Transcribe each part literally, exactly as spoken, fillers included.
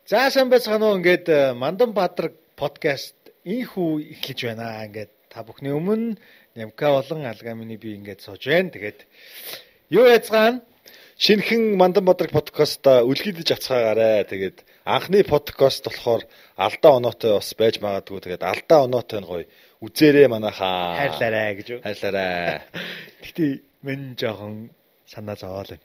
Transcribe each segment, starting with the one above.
За сайн байцгаана уу. Ингээд Мандан Баатар подкаст инхүү эхлэж байна. Ингээд та бүхний өмнө Нямка болон Алга миний би ингээд сууж байна. Тэгээд юу яцгаана? Шинэхэн Мандан Баатар подкаста үлгийдэж ацгаагаарэ. Тэгээд анхны подкаст болохоор алдаа оноотой бас байж магадгүй. Тэгээд алдаа оноотой нь гоё үзээрэй манайхаа. Хайрлаарай гэж юу? Хайрлаарай. Гэтэ мен жоохон санаа зовоол юм.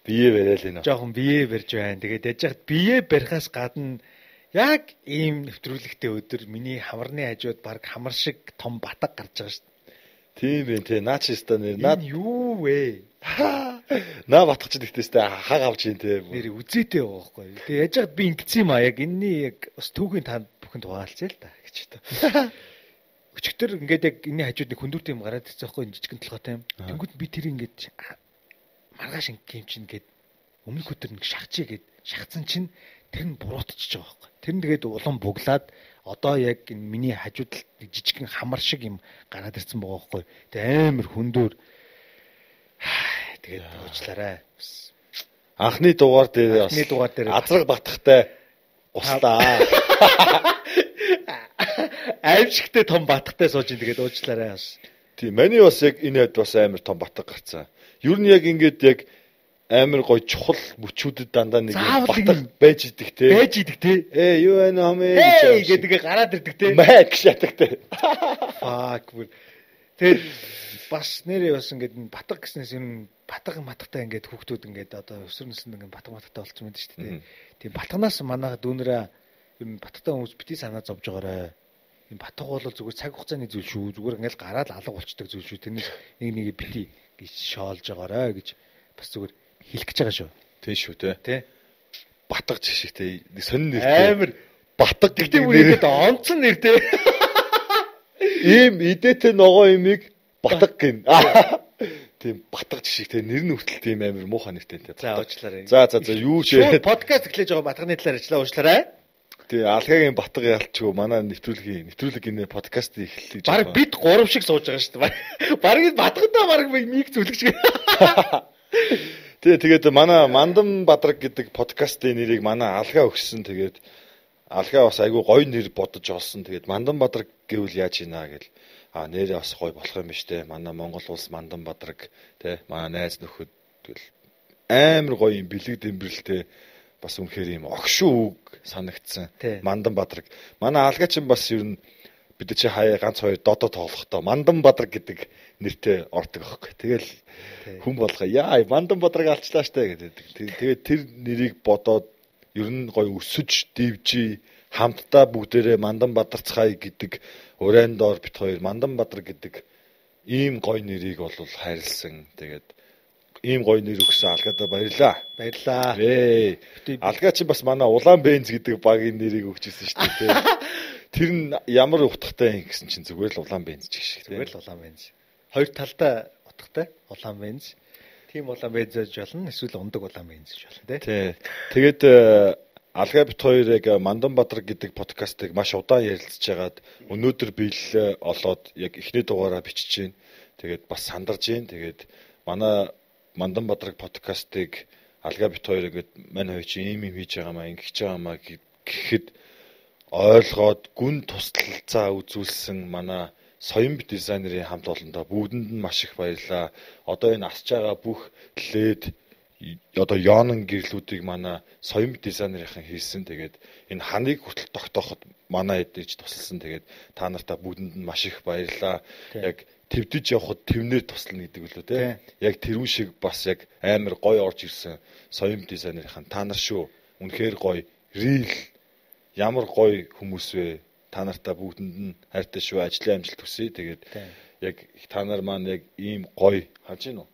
Бие барайл энэ. Жоохон бие барьж байна. Тэгээд яж хат бие барихаас гадна яг ийм нэвтрүүлэгтэй өдөр миний хамарны хажууд баг хамар шиг том батг гарч байгаа шүү дээ. Тийм байх те. Наа чи өстө нэр наад юу вэ? Наа батгач дэгтэйстэй хаг авч ийн те. Нэр үзээтэй байгаа байхгүй. Тэгээд яж хат би ингэсэн юм а яг энэний яг бас түүхийн танд бүхэнд хуваалцъя л да гэж та. Өчигдөр ингээд яг энэний хажууд нэг хөндөртэй юм гараад ирсэн байхгүй жижигэн толгойтой юм. Тэнгүүд би тэр ингээд маргааш ингээм чинь гээд өмнөх өдөр нэг шахчий гээд шахацсан чинь тэр нь буруутчихж байгаа байхгүй. Тэр нь тэгээд улам буглаад одоо яг энэ миний хажууд нэг жижигхэн хамар шиг юм гараад ирсэн байгаа байхгүй. Тэгээд амар хөндөр. Тэгээд уучлаарай. Анхны дугаар дээр анхны дугаар дээр азраг батхтай устаа. Аимшигтэй том батхтай сууж ин тэгээд уучлаарай бас. Тийм маний бас яг энэ хэд бас амар том батг гарцсан. Юу нь яг ингээд яг амар гой чухал мөчүүдэд дандаа нэг батг байж идэг те. Байж идэг те. Ээ юу байна хомээ гэж гэдэг гараад ирдэг те. Маа гэж ятдаг те. Фак бүр. Тэгээд бас нэрээ бас ингээд батг гэснээс юм батг матгтай ингээд хүүхдүүд ингээд одоо өсвөр наснд ингээд батг матгтай болцсон байдаг шүү дээ. Тийм батгнаас манайха дүүнэрээ юм батгтай хүмүүс бити санаа зовж байгаарэ. Энэ батг бол зүгээр цаг хугацааны зүйл шүү. Зүгээр ингээд гараад алга болчдөг зүйл шүү. Тэрнээс нэг нэг бити гэж шоолж байгаарэ гэж бас зүгээр хэлэх гэж байгаа шүү. Тийм шүү те. Тэ. Батг жишгтэй нэг сонин нэртэй. Амар батг гэдэг үеэд онцон нэртэй. Ийм идээтэй ногоо имийг батг гин. Тийм батг жишгтэй нэр нь хүртэл тийм амар муухай нэртэй те. За уучлаарай. За за за юу ч подкаст эхлэж байгаа батганы талаар ажиллаа уучлаарай. Тий, алгагийн батг ялчгүй манай нэвтрүүлгийн нэвтрүүлэг гинэ подкаст эхлэж байгаа. Бараг бид гурав шиг сууж байгаа шүү дээ. Бараг батгандаа бараг миг зүлгэж. Тий, тэгээд манай Мандан Баатар гэдэг подкастын нэрийг манай алгаа өгсөн. Тэгээд алгаа бас айгүй гоё нэр бодож олсон. Тэгээд Мандан Баатар гэвэл яаж ийна гэл. А нэрээ бас гоё болох юм биш үү? Манай Монгол улс Мандан Баатар тий, манай найз нөхөд тэгэл амар гоё юм бэлэг дэмбэрэлтэй бас үнэхээр юм огшуу үг санагдсан. Мандан Баатар. Манай алгаа чинь бас ер нь бид чи хаяа ганц хоёр додо тоглохдоо Мандан Баатар гэдэг нэртэй ордог аахгүй. Тэгэл хүн болгоо яа Мандан Баатарыг алчлаа штэ гэдэг. Тэгээд тэр нэрийг бодоод ер нь гоё өсөж дивжи хамтдаа бүгдээрээ Мандан Баатарцгай гэдэг урайн доор бит хоёр Мандан Баатар гэдэг ийм гоё нэрийг бол хайрлсан. Тэгээд ийм гоё нэр өгсөн алгаадаа баярлаа. Баярлаа. Ээ. Алгаа чи бас манай Улаан Бенз гэдэг багийн нэрийг өгчээсэн шүү дээ. Тэр нь ямар утгатай юм гэсэн чинь зүгээр л Улаан Бенз шиг. Зүгээр л Улаан Бенз. Хоёр талдаа утгатай Улаан Бенз. Тим Улаан Бенз гэж болно. Эсвэл ундаг Улаан Бенз гэж болно тий. Тэгээд алгаа бит хоёр яг Мандан Баатар гэдэг подкастыг маш удаан ярилцж байгаад өнөөдөр биелэл олоод яг эхний дугаараа бичиж байна. Тэгээд бас сандарж байна. Тэгээд манай Мандан Баатар подкастыг алгаа бит хоёр ингээд мань хоёр чи ийм юм хийж байгаа маа ингэж байгаа маа гэхэд ойлгоод гүн туслалцаа үзүүлсэн манай Соёмбит дизайнерын хамт олондоо бүгдэнд нь маш их баярлалаа. Одоо энэ асч байгаа бүх лед одоо Йонн гэрлүүдийг манай Соёмбит дизайнерийнхан хийсэн. Тэгээд энэ ханыг хүртэл тогтооход манай эдэж тусалсан. Тэгээд та нартаа бүгдэнд нь маш их баярлалаа. Яг твдэж явхад твнэр туслана гэдэг үлээ те. Яг тэрүүн шиг бас яг амар гоё орж ирсэн Соёмбит дизайнерийнхан та нар шүү. Үнэхээр гоё, real ямар гоё хүмүүс вэ? Та нартаа бүгдэнд нь хайртай шүү. Ажлын амжилт хүсье. Тэгээд яг та нар маань яг ийм гоё харж гин үү?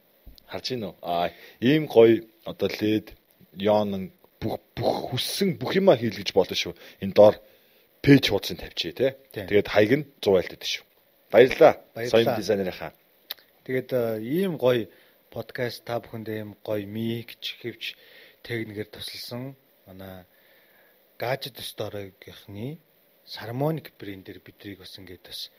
Харж гин үү? Аа, ийм гоё одоо лед Йонн бүх бүх хүссэн бүх юма хийлгэж болно шүү. Энэ доор пэйж хуудсыг тавьчихъя те. Тэгээд хаяг нь сто айлт гэдэг шүү. Баярлалаа. Соёмбит дизайнерийнхаа. Тэгээд ийм гоё подкаст та бүхэндээ ийм гоё микч хэвч техникээр тусалсан манай Gadget Store-ийнхны Sarmonic брэндээр бидрийг бас ингээд бас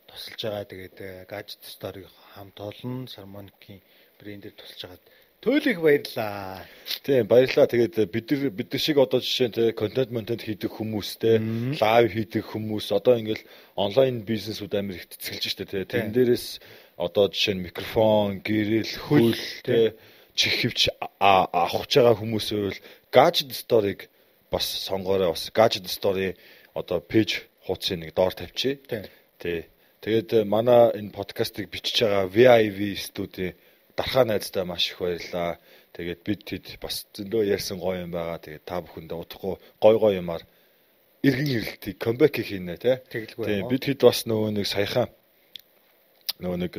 тусалж байгаа. Тэгээд Gadget Store-ыг хамт олон Sarmonic-ийн брэндээр тусалж байгаа Төөлөх баярлаа. Тийм баярлаа. Тэгээд бид нар бид нар шиг одоо жишээ нь те контент монтент хийдэг хүмүүс те лайв хийдэг хүмүүс одоо ингээл онлайн бизнесүүд амар их цэцгэлж штэ те. Тэн дээрээс одоо жишээ нь микрофон, гэрэл, хөл те чихвч авахж байгаа хүмүүсээ бол Gadget Store-ыг бас сонгоорой бас Gadget Store-ийн одоо пэйж хуудсыг нэг доор тавьчих. Тий. Тэгээд манай энэ подкастыг бичиж байгаа ви ай ви студийн дархаа найздаа маш их баярлалаа. Тэгээд бид тэд бас зөндөө ярьсан гоё юм байгаа. Тэгээд та бүхэндээ удахгүй гоё гоё юмар иргэн ирэлтийг камбэк хийнэ тий. Тийм бид хэд бас нөгөө нэг саяхан нөгөө нэг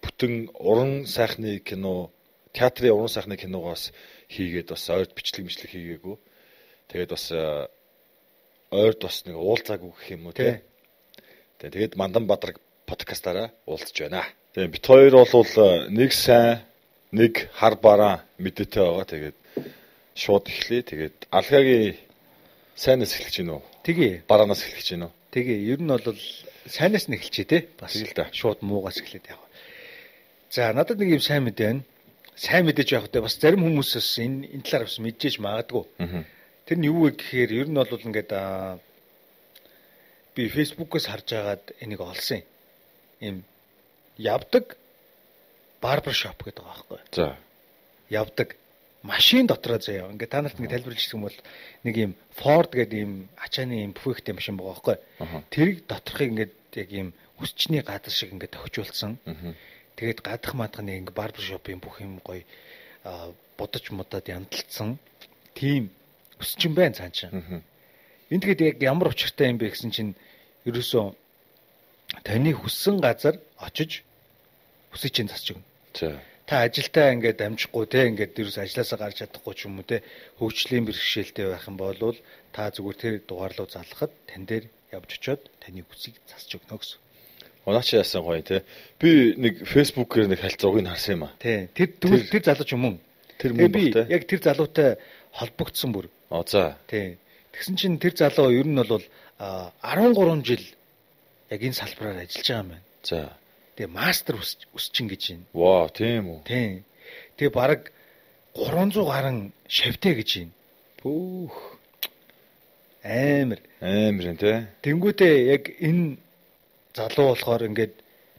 бүтэн уран сайхны кино театрын уран сайхны киногоос хийгээд бас ойрд бичлэг мэтлэг хийгээгүй. Тэгээд бас ойрд бас нэг уулзаагүй гэх юм уу тий. Тэгээд Мандан Бадраг подкастаараа уулзж байна. Тэгээд бит хоёр бол нэг сайн нэг хар бараан мэдээтэй байгаа. Тэгээд шууд эхлэе. Тэгээд алхагийн сайнаас эхэлж гин үү? Тэгье. Бараанаас эхэлж гин үү? Тэгье. Ер нь бол сайнаас нь эхэлчихэ тий. Бас л да. Шууд муугаас эхлээд яав. За надад нэг юм сайн мэдээ байна. Сайн мэдээж явах гэдэг бас зарим хүмүүс бас энэ энэ талаар бас мэдчихэж магадгүй. Тэр нь юу вэ гэхээр ер нь бол ингээд би фэйсбүүкээс харж агаад энийг олсон юм. Явдаг барбер шоп гэдэг байгаа байхгүй. За. Явдаг машин дотроо заяа. Ингээд та нарт ингэ тайлбарлаж хэлэх юм бол нэг юм Ford гэдэг юм ачааны юм бүхэхтэй машин байгаа байхгүй. Тэрийг доторхыг ингээд яг юм өсчний гадар шиг ингээд тохижуулсан. Тэгээд гадах маадхны ингээ барбер шопын бүх юм гоё бодож модод янталцсан тийм өсчин байна цаанч. Энд тэгээд яг ямар учиртай юм бэ гэсэн чинь ерөөсөө таны хүссэн газар очиж хүсэж чинь засч өгнө. За. Та ажилдаа ингээд амжихгүй те ингээд ерөөс ажилласаа гарч чадахгүй ч юм уу те хөгжлийн бэрхшээлтэй байх юм бол та зүгээр тэр дугаарлуу залгахад тань дээр явж очиод таны хүсийг засч өгнө гэсэн. Унаач яасан гоё те. Би нэг фэйсбүүкээр нэг халдварыг харсан юм аа. Тий. Тэр тэгвэл тэр залуу ч юм уу? Тэр мөн би яг тэр залуутай холбогдсон бүр. Аа за. Тий. Тэгсэн чинь тэр залуу ер нь бол арван гурван жил яг энэ салбараар ажиллаж байгаа юм байна. За. Тэгээ мастер өсчин гэж байна. Вау, тийм үү. Тий. Тэгээ бараг гурван зуун гаруй шавьтай гэж байна. Пүүх. Амар. Амар юм те. Тэнгүүтээ яг энэ залуу болохоор ингээд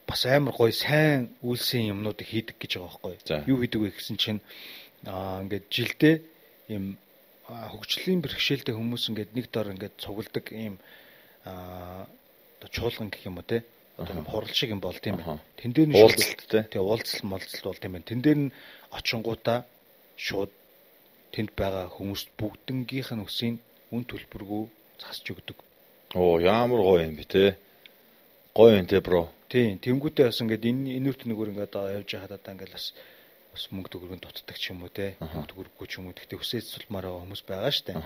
бас амар гоё сайн үйлсийн юмнуудыг хийдэг гэж байгаа байхгүй. Юу хийдэг вэ гэсэн чинь аа ингээд жилдээ юм хөгжлийн бэрхшээлтэй хүмүүс ингээд нэг дор ингээд цугладаг юм аа оо чуулган гэх юм уу те. Одоо хурал шиг юм болд юм байна. Тэн дээр нь уулзалт те. Тэгээ уулзалт молцолт болд юм байна. Тэн дээр нь очингуудаа шууд тэнд байгаа хүмүүст бүгднгийнх нь үсийн үн төлбөргүй засч өгдөг. Оо ямар гоё юм бэ те. Гоё юм те бро. Тийм, тэнгүүтээ бас ингээд энэ энүүт нэгөр ингээд явж байхад одоо ингээд бас бас мөнгө төгрөгийн дутдаг ч юм уу те. Мөнгө төгрөггүй ч юм уу. Гэхдээ хүсэж сулмаар байгаа хүмүүс байгаа штэ.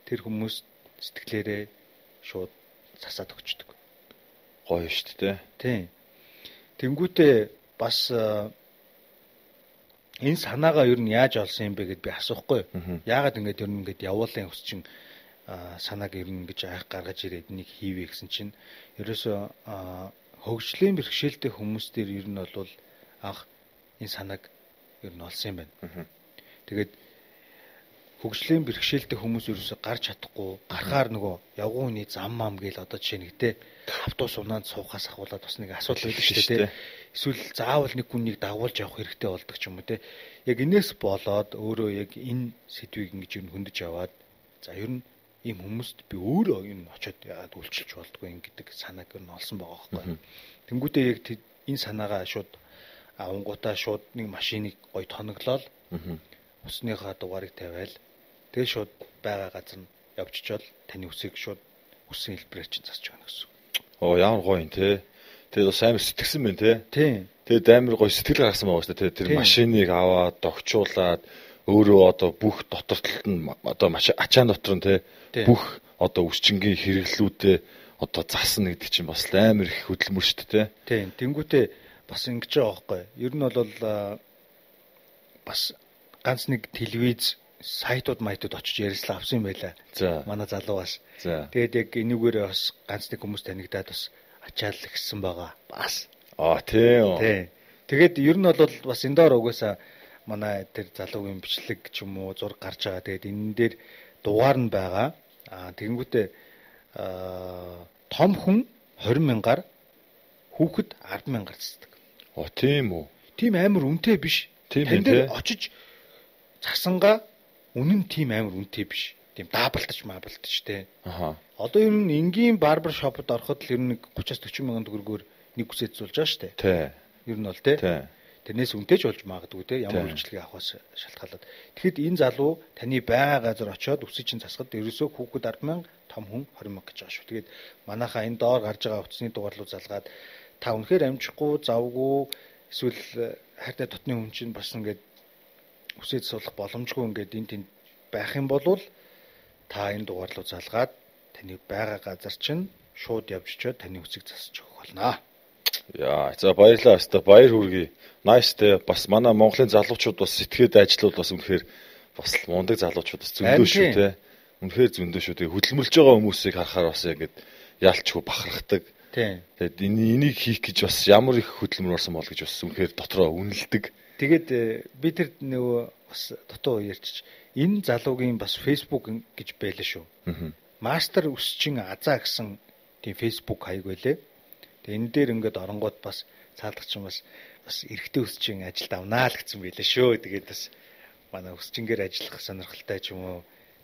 Тэр хүмүүс сэтгэлээрээ шууд засаад өгчдөг. Гоё штэ те. Тийм. Тэнгүүтээ бас энэ санаагаа ер нь яаж олсон юм бэ гэд би асуухгүй. Яагаад ингээд ер нь ингээд явуулын өсчин санааг ер нь гэж айх гаргаж ирээд энийг хийвэ гэсэн чинь ерөөсөө хөгжлийн бэрхшээлтэй хүмүүс дээр ер нь бол анх энэ санааг ер нь олсон юм байна. Тэгээд хөгжлийн бэрхшээлтэй хүмүүс ерөөсөө гарч чадахгүй гарахаар нөгөө явган хүний зам мам гээл одоо жишээ нэг те автобус унаанд суухаас ахуулаад бас нэг асуудал байдаг шүү дээ те. Эсвэл заавал нэг хүнийг дагуулж явах хэрэгтэй болдог ч юм уу те. Яг энэс болоод өөрөө яг энэ сэдвийг ингэж ер нь хөндөж яваад за ер нь ийм хүмүүст би өөрөө энэ очиод яагаад үйлчилж болдгоо юм гэдэг санааг ер нь олсон байгаа байхгүй. Тэнгүүдээ яг энэ санаагаа шууд авангуудаа шууд нэг машиныг гой тоноглоод усныхаа дугаарыг тавиал тэгээ шууд байгаа газар нь явж чод таны үсийг шууд үсгийн хэлбэрээр чинь засч өгнө гэсэн. Оо ямар гоё юм те. Тэгээд бас амар сэтгсэн байна те. Тийм. Тэгээд амар гоё сэтгэл гаргасан байгаа шүү дээ. Тэр машиныг аваад догчуулаад өөрөө одоо бүх дотортлолт нь одоо ачаан дотор нь те бүх одоо үсчингийн хэрэглүүдээ одоо засна гэдэг чинь бас амар их хөдөлмөр шүү дээ те. Тийм. Тэнгүүтээ бас ингэж байгаа байхгүй. Ер нь бол бас ганц нэг телевиз сайтууд майтууд очиж ярьслаа авсан юм байла. Манай залуугаас. Тэгээд яг энүүгээр бас ганц нэг хүмүүс танигдаад бас ачаал гисэн байгаа. Бас. Аа тийм. Тийм. Тэгээд ер нь бол бас энэ доор угаасаа манай тэр залуугийн бичлэг ч юм уу зураг гарч байгаа. Тэгээд энэ дээр дугаар нь байгаа. Аа тэгэнгүүтээ том хүн двадцать мянгаар хүүхэд десять мянгаар цэцдэг. Оо тийм үү. Тийм амар үнэтэй биш. Тэн дээр очиж цасангаа үнэн тийм амар үнэтэй биш. Тийм даабалтаж маабалтаж те. Аха. Одоо ер нь энгийн барбар шопод ороход л ер нь тридцать40 мянган төгрөгөөр нэг үсэд зулж байгаа шүү дээ. Тий. Ер нь бол те. Тий. Тэрнээс үнэтэй ч болж магадгүй те. Ямар үйлчлэгийг авахаас шалтгаалаад. Тэгэхэд энэ залуу таны байгаа газар очиод үсэг чинь засахад ерөөсөө хүүхэд десять мянга, том хүн двадцать мянга гэж байгаа шүү. Тэгээд манайхаа энэ доор гарч байгаа утасны дугаарлуу залгаад та үнэхээр амжихгүй, завгүй эсвэл хайртай дотны хүн чинь бас ингээд үсээд суулгах боломжгүй ингээд энэ тэнд байх юм бол та энэ дугаарлуу залгаад таны байгаа газар чинь шууд явж очиод таны үсийг засаж өгөх болно. Яа, за баярлалаа. Өстө баяр хүргэе. Nice те. Бас манай Монголын залуучууд бас сэтгэхэд ажлууд бас үнэхээр бас мундаг залуучууд бас зөндөө шүү те. Үнэхээр зөндөө шүү. Тэгээ хөдөлмөрлж байгаа хүмүүсийг харахаар бас яг яалчгүй бахархдаг. Тийм. Тэгээд энийг хийх гэж бас ямар их хөдөлмөр орсон бол гэж бас үнэхээр дотроо үнэлдэг. Тэгээд би тэр нөгөө бас дотоо ярьчих. Энэ залуугийн бас Facebook гэж байлаа шүү. Аа. Мастер өсчин азаа гэсэн тийм Facebook хаяг байлээ. Тэгээ энэ дээр ингээд оронгууд бас цаалгач нь бас бас эрэгтэй өсчин ажилд авнаа л гэсэн байлаа шүү. Тэгээд бас манай өсчингээр ажиллах сонирхолтой ч юм уу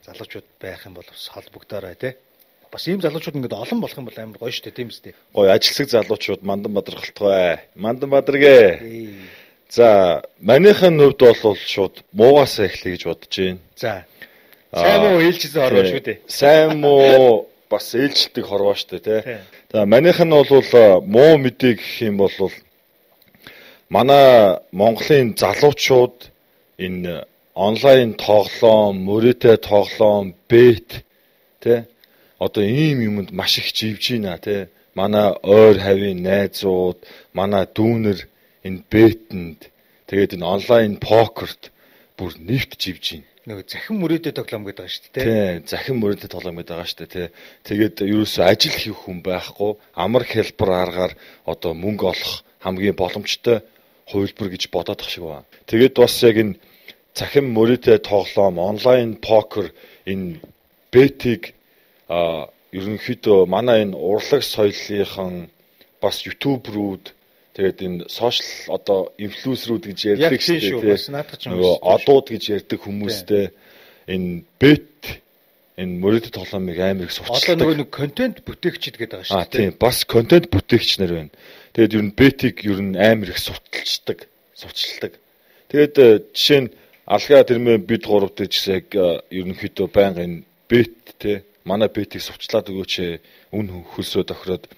залуучууд байх юм бол бас холбогдоорой тий. Бас ийм залуучууд ингээд олон болох юм бол амар гоё шүү дээ тийм үстэй. Гоё ажилсаг залуучууд Мандан Бадрахалтгай. Мандан Бадргээ. За, манийхэн хувьд бол шууд муугасаа эхлэе гэж бодож байна. За. Сайн муу ээлжсэн хорвоо шүү дээ. Сайн муу бас ээлжилдэг хорвоо шүү дээ тий. За, манийхэн бол муу мэдээ гэх юм бол манай Монголын залуучууд энэ онлайн тоглоом, мөрөөдөө тоглоом, бет тий одоо ийм юмд маш их живж байна тий. Манай ойр хавийн найзууд, манай дүүнер энэ бэтэнд тэгээд энэ онлайн покерт бүр нэвт живж байна. Нөгөө захин мөрөөдөө тоглоом гэдэг байгаа шүү дээ тий. Тий, захин мөрөөдөө тоглоом гэдэг байгаа шүү дээ тий. Тэгээд ерөөсөө ажил хийх хүн байхгүй, амар хэлбэр аргаар одоо мөнгө олох хамгийн боломжтой хувилбар гэж бодоод тах шиг байна. Тэгээд бас яг энэ захин мөрөөдөө тоглоом, онлайн покер энэ бетийг а ерөнхийдөө манай энэ урлаг соёлынхан бас ютуберүүд тэгээд энэ сошиал одоо инфлюенсерүүд гэж ярьдаг шүү дээ. Нөгөө одууд гэж ярьдаг хүмүүстэй энэ бет энэ мөрөөдө тоглоомыг амар их сурчлагдаг. Одоо нөгөө нэг контент бүтээгчид гэдэг байгаа шүү дээ. А тийм бас контент бүтээгч нар байна. Тэгээд ер нь бетийг ер нь амар их сурталчдаг, сурчлагдаг. Тэгээд жишээ нь алгаа тэрмээ бид гурав дээр ч яг ерөнхийдөө байнга энэ бет те манай бетийг сурчлаад өгөөч үн хөлсөө тохироод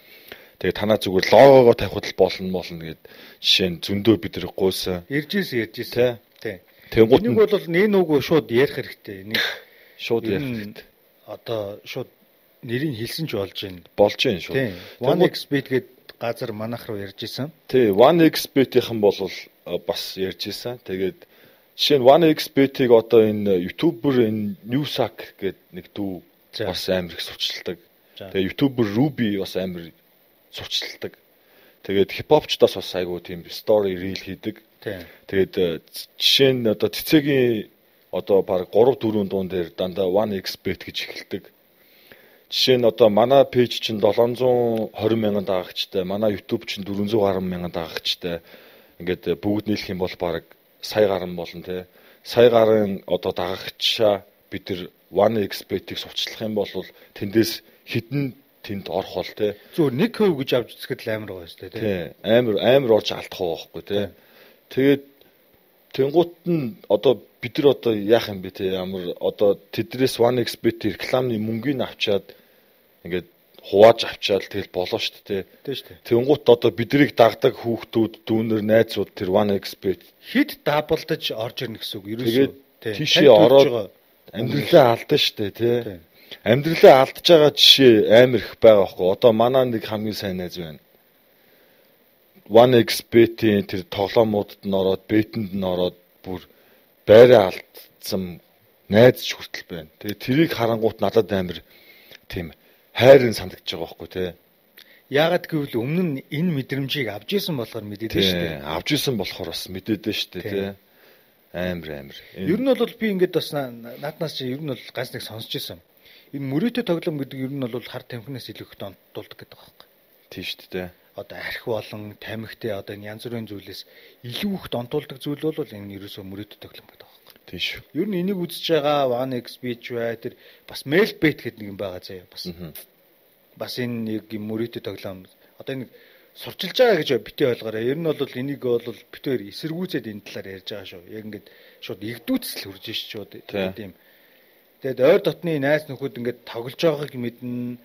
тэгээ танаа зүгээр логогоо тавихад л болно болно гэд жишээ нь зөндөө бид нар гуйсан. Иржсэн иржсэн. Тий. Тэнгууд нь бол нэн үгүй шууд ярих хэрэгтэй. Нэг шууд ярих хэрэгтэй. Одоо шууд нэрийг хэлсэн ч болж байна. Болж байна шууд. Тий. one x bet гээд газар манайх руу ярьжсэн. Тий, one x bet-ийнхэн бол бас ярьжсэн. Тэгээд жишээ нь one x bet-ийг одоо энэ ютубер энэ Newsack гээд нэг дүү бас амар их сурчилдаг. Тэгээ ютубер Ruby бас амар сурчилдаг. Тэгээд хипхопчдоос бас айгуу тийм story reel хийдэг. Тэгээд жишээ нь одоо цэцэгийн одоо баг три дөрвөн дуун дээр дандаа one x bet гэж эхэлдэг. Жишээ нь одоо манай пэйж чинь seven twenty мянган дагагчтай, манай YouTube чинь four hundred гаруй мянган дагагчтай. Ингээд бүгд нийлэх юм бол баг сая гаруй болно те. Сая гаруй одоо дагагчаа бид нар one x bet-ийг сурчлах юм бол тэндээс хідэн тэнд орох бол те. Зүгээр нэг хувь гэж авч үзэхэд л амар байгаа шүү дээ те. Амар амар орж алдах байхгүй те. Тэгээд тэнгуут нь одоо бид нар одоо яах юм бэ те. Ямар одоо тэдрээс one x bet рекламны мөнгөний авчаад ингээд хувааж авчаал тэгэл болоо шүү дээ те. Тийм шүү дээ. Тэнгуут одоо биднийг дагдаг хүүхдүүд, дүүнер, найзууд тэр one x bet хит даблдаж орж ирнэ гэсэн үг ерөөсөө те. Тийшээ ороод амьдралаа алдсан шүү дээ тий. Амьдралаа алдж байгаа жишээ амар их байгаа байхгүй. Одоо манай нэг хамгийн сайн найз байна. one x bet-ийн тэр тоглоомуудад нь ороод, бэтэнд нь ороод бүр байраа алдсан найз ч хүртэл байна. Тэгээ тэрийг харангуут надад амар тийм хайрын санагдаж байгаа байхгүй тий. Яагаад гэвэл өмнө нь энэ мэдрэмжийг авч исэн болохоор мэдээд шүү дээ. Авч исэн болохоор бас мэдээд шүү дээ тий. Амар амар. Ер нь бол би ингээд бас нааднаас чи ер нь бол ганц нэг сонсч ирсэн. Энэ мөрөөдө тоглоом гэдэг ер нь бол хар тамхинаас илүү их донтуулдаг гэдэг байгаа байхгүй. Тийм шүү дээ. Одоо арх болон тамхитай одоо энэ янз бүрийн зүйлээс илүү их донтуулдаг зүйл бол энэ ерөөсөө мөрөөдө тоглоом гэдэг байгаа байхгүй. Тийм шүү. Ер нь энийг үзэж байгаа one x bet бай тэр бас mailbet гэдэг нэг юм байгаа заяа бас. Бас энэ нэг мөрөөдө тоглоом одоо энэ сурчилж байгаа гэж битээ ойлгоорой. Ер нь бол энийг бол битээр эсэргүүцээд энэ талаар ярьж байгаа шүү. Яг ингээд шууд игдүүцэл хурж шууд тийм. Тэгээд ойр дотны найз нөхөд ингээд тоглож байгааг мэднэ.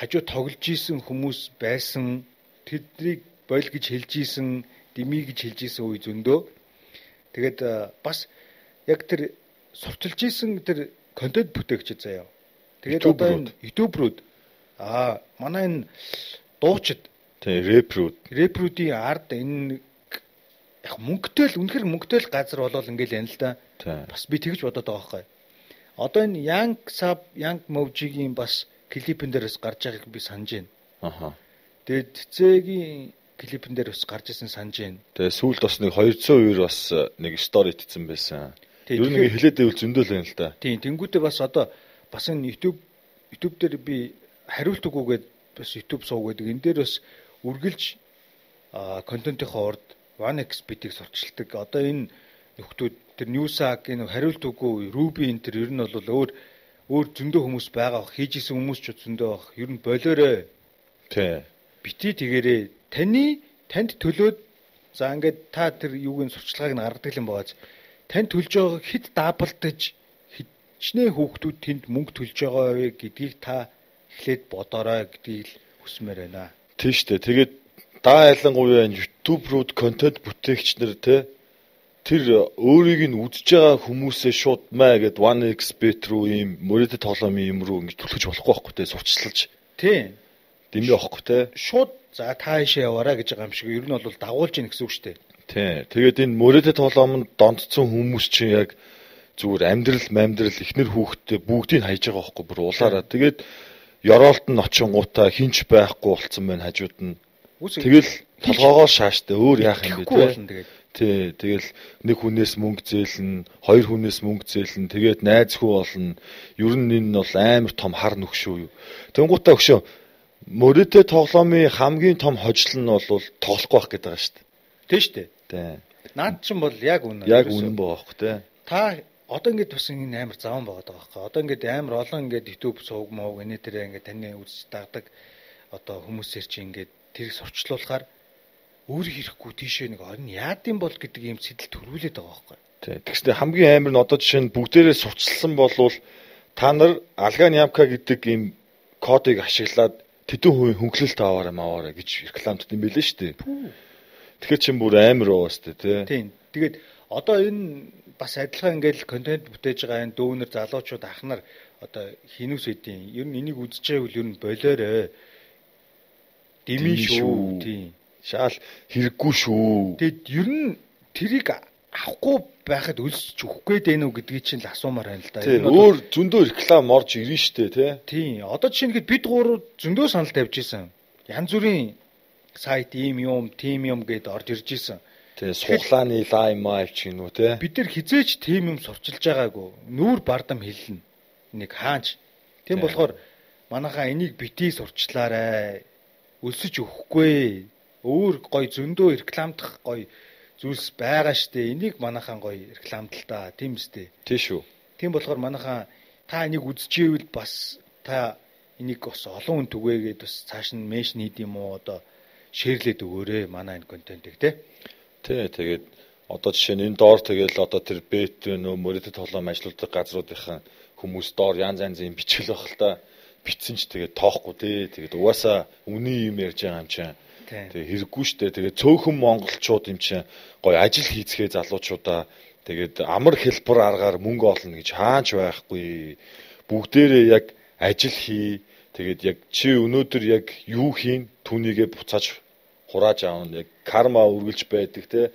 Хажуу тоглож исэн хүмүүс байсан. Тэднийг бойл гэж хэлж исэн, дими гэж хэлж исэн үе зөндөө. Тэгээд бас яг тэр сурчилж исэн тэр контент бүтээгч заяа. Тэгээд одоо энэ YouTube-рууд аа манай энэ дуучид тий рэпрүүд рэпрүүдийн ард энэ яг мөнгөтэй л үнэхэр мөнгөтэй л газар болол ингээл яана л да. Бас би тэгж бодоод байгаа байхгүй. Одоо энэ Young Sub Young Mojig-ийн бас клипэн дээр бас гарч байгааг би санаж байна. Аха. Тэгээд Цэгийн клипэн дээр бас гарч ирсэн санаж байна. Тэгээд сүүлд бас нэг хоёр цаа хоёр бас нэг стори итцэн байсан. Ер нь хэлээд байвал зөндөл байна л да. Тийм, тэнгуүтээ бас одоо бас энэ YouTube YouTube дээр би хариулт өгөөгээд бас YouTube сууг гэдэг. Энэ дээр бас үргэлж контентынхаа урд one x bet-ийг сурчилдаг. Одоо энэ нөхдүүд тэр Newsag энэ хариулт өгөө Ruby энэ тэр ер нь бол өөр өөр зөндөө хүмүүс байгаа. Хийжсэн хүмүүс ч зөндөө баг. Ер нь болоорой. Тий. Бити тэгэрээ таны танд төлөөд за ингээд та тэр юугийн сурчлагыг нь гаргадаг юм бааз. Танд төлж байгааг хэд даблдаж хичнээн хүүхдүүд тэнд мөнгө төлж байгаа вэ гэдгийг та эхлээд бодорой гэдгийг л хүсмээр байна. Тийм шүү дээ. Тэгээд даа ялангуяа YouTube руу контент бүтээгч нар те тэр өөрийг нь үзэж байгаа хүмүүсээ шууд маа гэд one x bet руу ийм мөрөдө тоглоомын юм руу ингэж түлхэж болохгүй байхгүй те сурчилж. Тийм. Дэмий байхгүй те. Шууд за та хаашаа яваараа гэж байгаа юм шиг ер нь бол дагуулж ийн гэсэн үг шүү дээ. Тийм. Тэгээд энэ мөрөдө тоглоомонд донтцсон хүмүүс чинь яг зүгээр амьдрал мамдрал ихнэр хүүхдтэй бүгдийг хайж байгаа байхгүй бүр улаараа. Тэгээд ёроолт нь очингуудаа хинч байхгүй болцсон байна хажууд нь. Тэгэл толгоогоо шааштай өөр яах юм бэ те. Тий, тэгэл нэг хүнээс мөнгө зээлнэ, хоёр хүнээс мөнгө зээлнэ, тэгээд найз хүү болно. Ер нь энэ нь бол амар том хар нүгшүү юу. Тэнгуутаа өгшөө мөрөдө тоглоомын хамгийн том хожил нь бол тоглохгүй байх гэдэг байгаа шүү дээ. Тий шүү дээ. Тий. Наад чинь бол яг үнэ. Яг үнэн байгаа байхгүй те. Та одоо ингээд бас энэ амар заван байгаа байхгүй. Одоо ингээд амар олон ингээд YouTube сууг муу энэ тэрэ ингээд таны үзэж дагдаг одоо хүмүүсээр чи ингээд тэрийг сурчлуулахаар өөрөө хэрэггүй тийшээ нэг орон яадын бол гэдэг юм сэтэл төрүүлээд байгаа байхгүй. Тий. Тэгснэ хамгийн амар нь одоо жишээ нь бүгдээрээ сурчилсан болвол та нар Algan Yamka гэдэг ийм кодыг ашиглаад тэдэн хувийн хөнгөлөлт аваарай маваарай гэж рекламдд юм байлээ шүү дээ. Тэгэхээр чинь бүр амар уу өстэй тий. Тийм. Тэгээд одоо энэ бас адилхан ингээд контент бүтээж байгаа энэ дүүнер залуучууд ах нар одоо хинүүс эдийн ер нь энийг үзэж байвал ер нь болоорой. Дими шүү. Тийм. Шаал хэрэггүй шүү. Тэгэд ер нь тэрийг авахгүй байхад өлсөж өгөхгүй дээ нү гэдгийг чинь л асуумаар байна л да. Тийм. Өөр зөндөө реклам орж ирнэ штэ тий. Тийм. Одоо жишээ нь бид гурав зөндөө санал тавьж исэн. Янз бүрийн сайт ийм юм, тим юм гэд орж ирж исэн. Тэгээ сухлааны лайв майв ч гинүү те. Бид нар хизээч тим юм сурчилж байгаагүй. Нүүр бардам хэлнэ. Нэг хаанч. Тийм болохоор манайхаа энийг битий сурчлаарай. Өлсөж өгөхгүй. Өөр гой зөндөө рекламдах гой зүйлс байгаа штэ. Энийг манайхаа гой рекламдал та. Тийм үстэй. Тийм шүү. Тийм болохоор манайхаа та энийг үзчихвэл бас та энийг бас олон хүн түгээгээд бас цааш нь меншн хийд юм уу одоо шеэрлээд өгөөрэй манай энэ контентыг те. Тий, тэгээд одоо жишээ нь энэ доор тэгэл одоо тэр бет нөө мөрөдө тоглоом ажилладаг газруудынхан хүмүүс доор янз янзын бичгэл байх л та битсэн ч тэгээд тоохгүй тий. Тэгээд угаасаа үний юм ярьж байгаа юм чинь. Тэгээд хэрэггүй штэ. Тэгээд цөөхөн монголчууд юм чинь гоё ажил хийцгээ залуучуудаа тэгээд амар хэлбэр аргаар мөнгө олно гэж хаач байхгүй. Бүгдээрээ яг ажил хий. Тэгээд яг чи өнөөдөр яг юу хийн түүнийгээ буцааж хурааж аавна. Яг карма үргэлж байдаг те.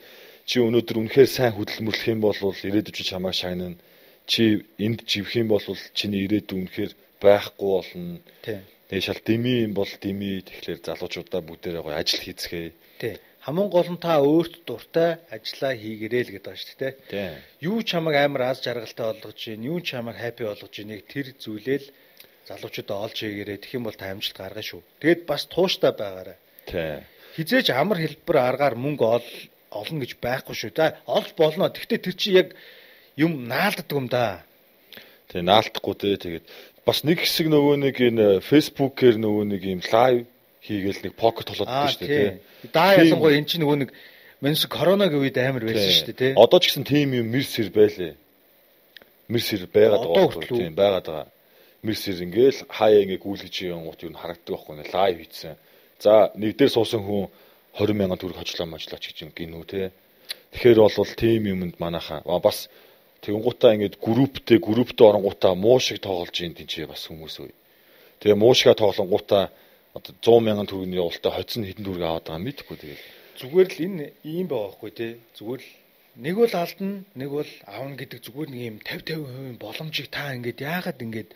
Чи өнөөдөр үнэхээр сайн хөдөлмөрлөх юм бол ирээдүйд чи чамайг шагнана. Чи энд живэх юм бол чиний ирээдүйд үнэхээр байхгүй болно. Тий. Тэгээ шал дими юм бол дими тэгэхээр залуучуудаа бүгдээрээ гоё ажил хийцгээе. Тий. Хамгийн гол нь та өөрт дуртай ажиллаа хийгэрэй л гэдэг байна шүү дээ. Тийм. Юу ч чамайг амар аз жаргалтай болгож чинь, юу ч чамайг хаппи болгож чинь тэр зүйлээл залуучуудаа олж хийгэрэй. Тэгэх юм бол та амжилт гаргана шүү. Тэгэд бас тууштай байгаарай. Тийм. Хизээч амар хэлбэр аргаар мөнгө ол олно гэж байхгүй шүү. За олж болно. Тэгвэл тэр чи яг юм наалддаг юм да. Тийм наалтахгүй дээ. Тэгээд бас нэг хэсэг нөгөө нэг энэ Facebook-ээр нөгөө нэг юм лайв хийгээл нэг покет толоод шүү дээ. Даа ялангуяа эн чинь нөгөө нэг менс коронагийн үед амар байсан шүү дээ. Одоо ч гэсэн тийм юм мэрсэр байлээ. Мэрсэр байгаад байгаа байхгүй тийм байгаад байгаа. Мэрсэр ингээл хаяа ингээ гүйлгэж юм гот юу харагддаг байхгүй нэ лайв хийсэн. За нэг дээр суусан хүн двадцать мянган төгрөг хочлоо мочлооч гэж гинүү те. Тэгэхээр бол тийм юмд манайхаа бас тэгэнгуутаа ингээд групптэй групптэй оронгуутаа муу шиг тоглож ийн тийч бас хүмүүс үе. Тэгээ муу шига тоглонгуутаа одоо сто мянган төгрөгийн явуултаа хоцсон хэдэн төгрөг аваад байгаа мэдэхгүй тэгэл. Зүгээр л энэ ийм байгаа байхгүй те. Зүгээр л нэг бол алдна, нэг бол аавна гэдэг зүгээр нэг юм пятьдесят процент боломжийг та ингээд яагаад ингээд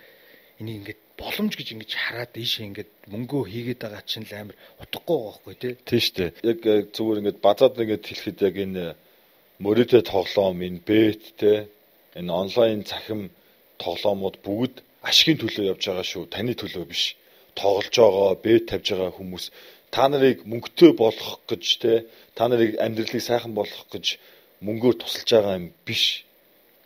энийг ингээд боломж гэж ингэж хараад ийшээ ингээд мөнгөө хийгээд байгаа чинь л амар утгагүй байгаа байхгүй те. Тийм шүү дээ. Яг зүгээр ингээд базаад ингээд хэлэхэд яг энэ мөрөдөө тоглоом, энэ бет те энэ онлайн цахим тоглоомууд бүгд ашигын төлөө явж байгаа шүү. Таны төлөө биш. Тоглож байгаа, бет тавьж байгаа хүмүүс та нарыг мөнгөтэй болгох гэж те та нарыг амьдралыг сайхан болгох гэж мөнгөөр тусалж байгаа юм биш.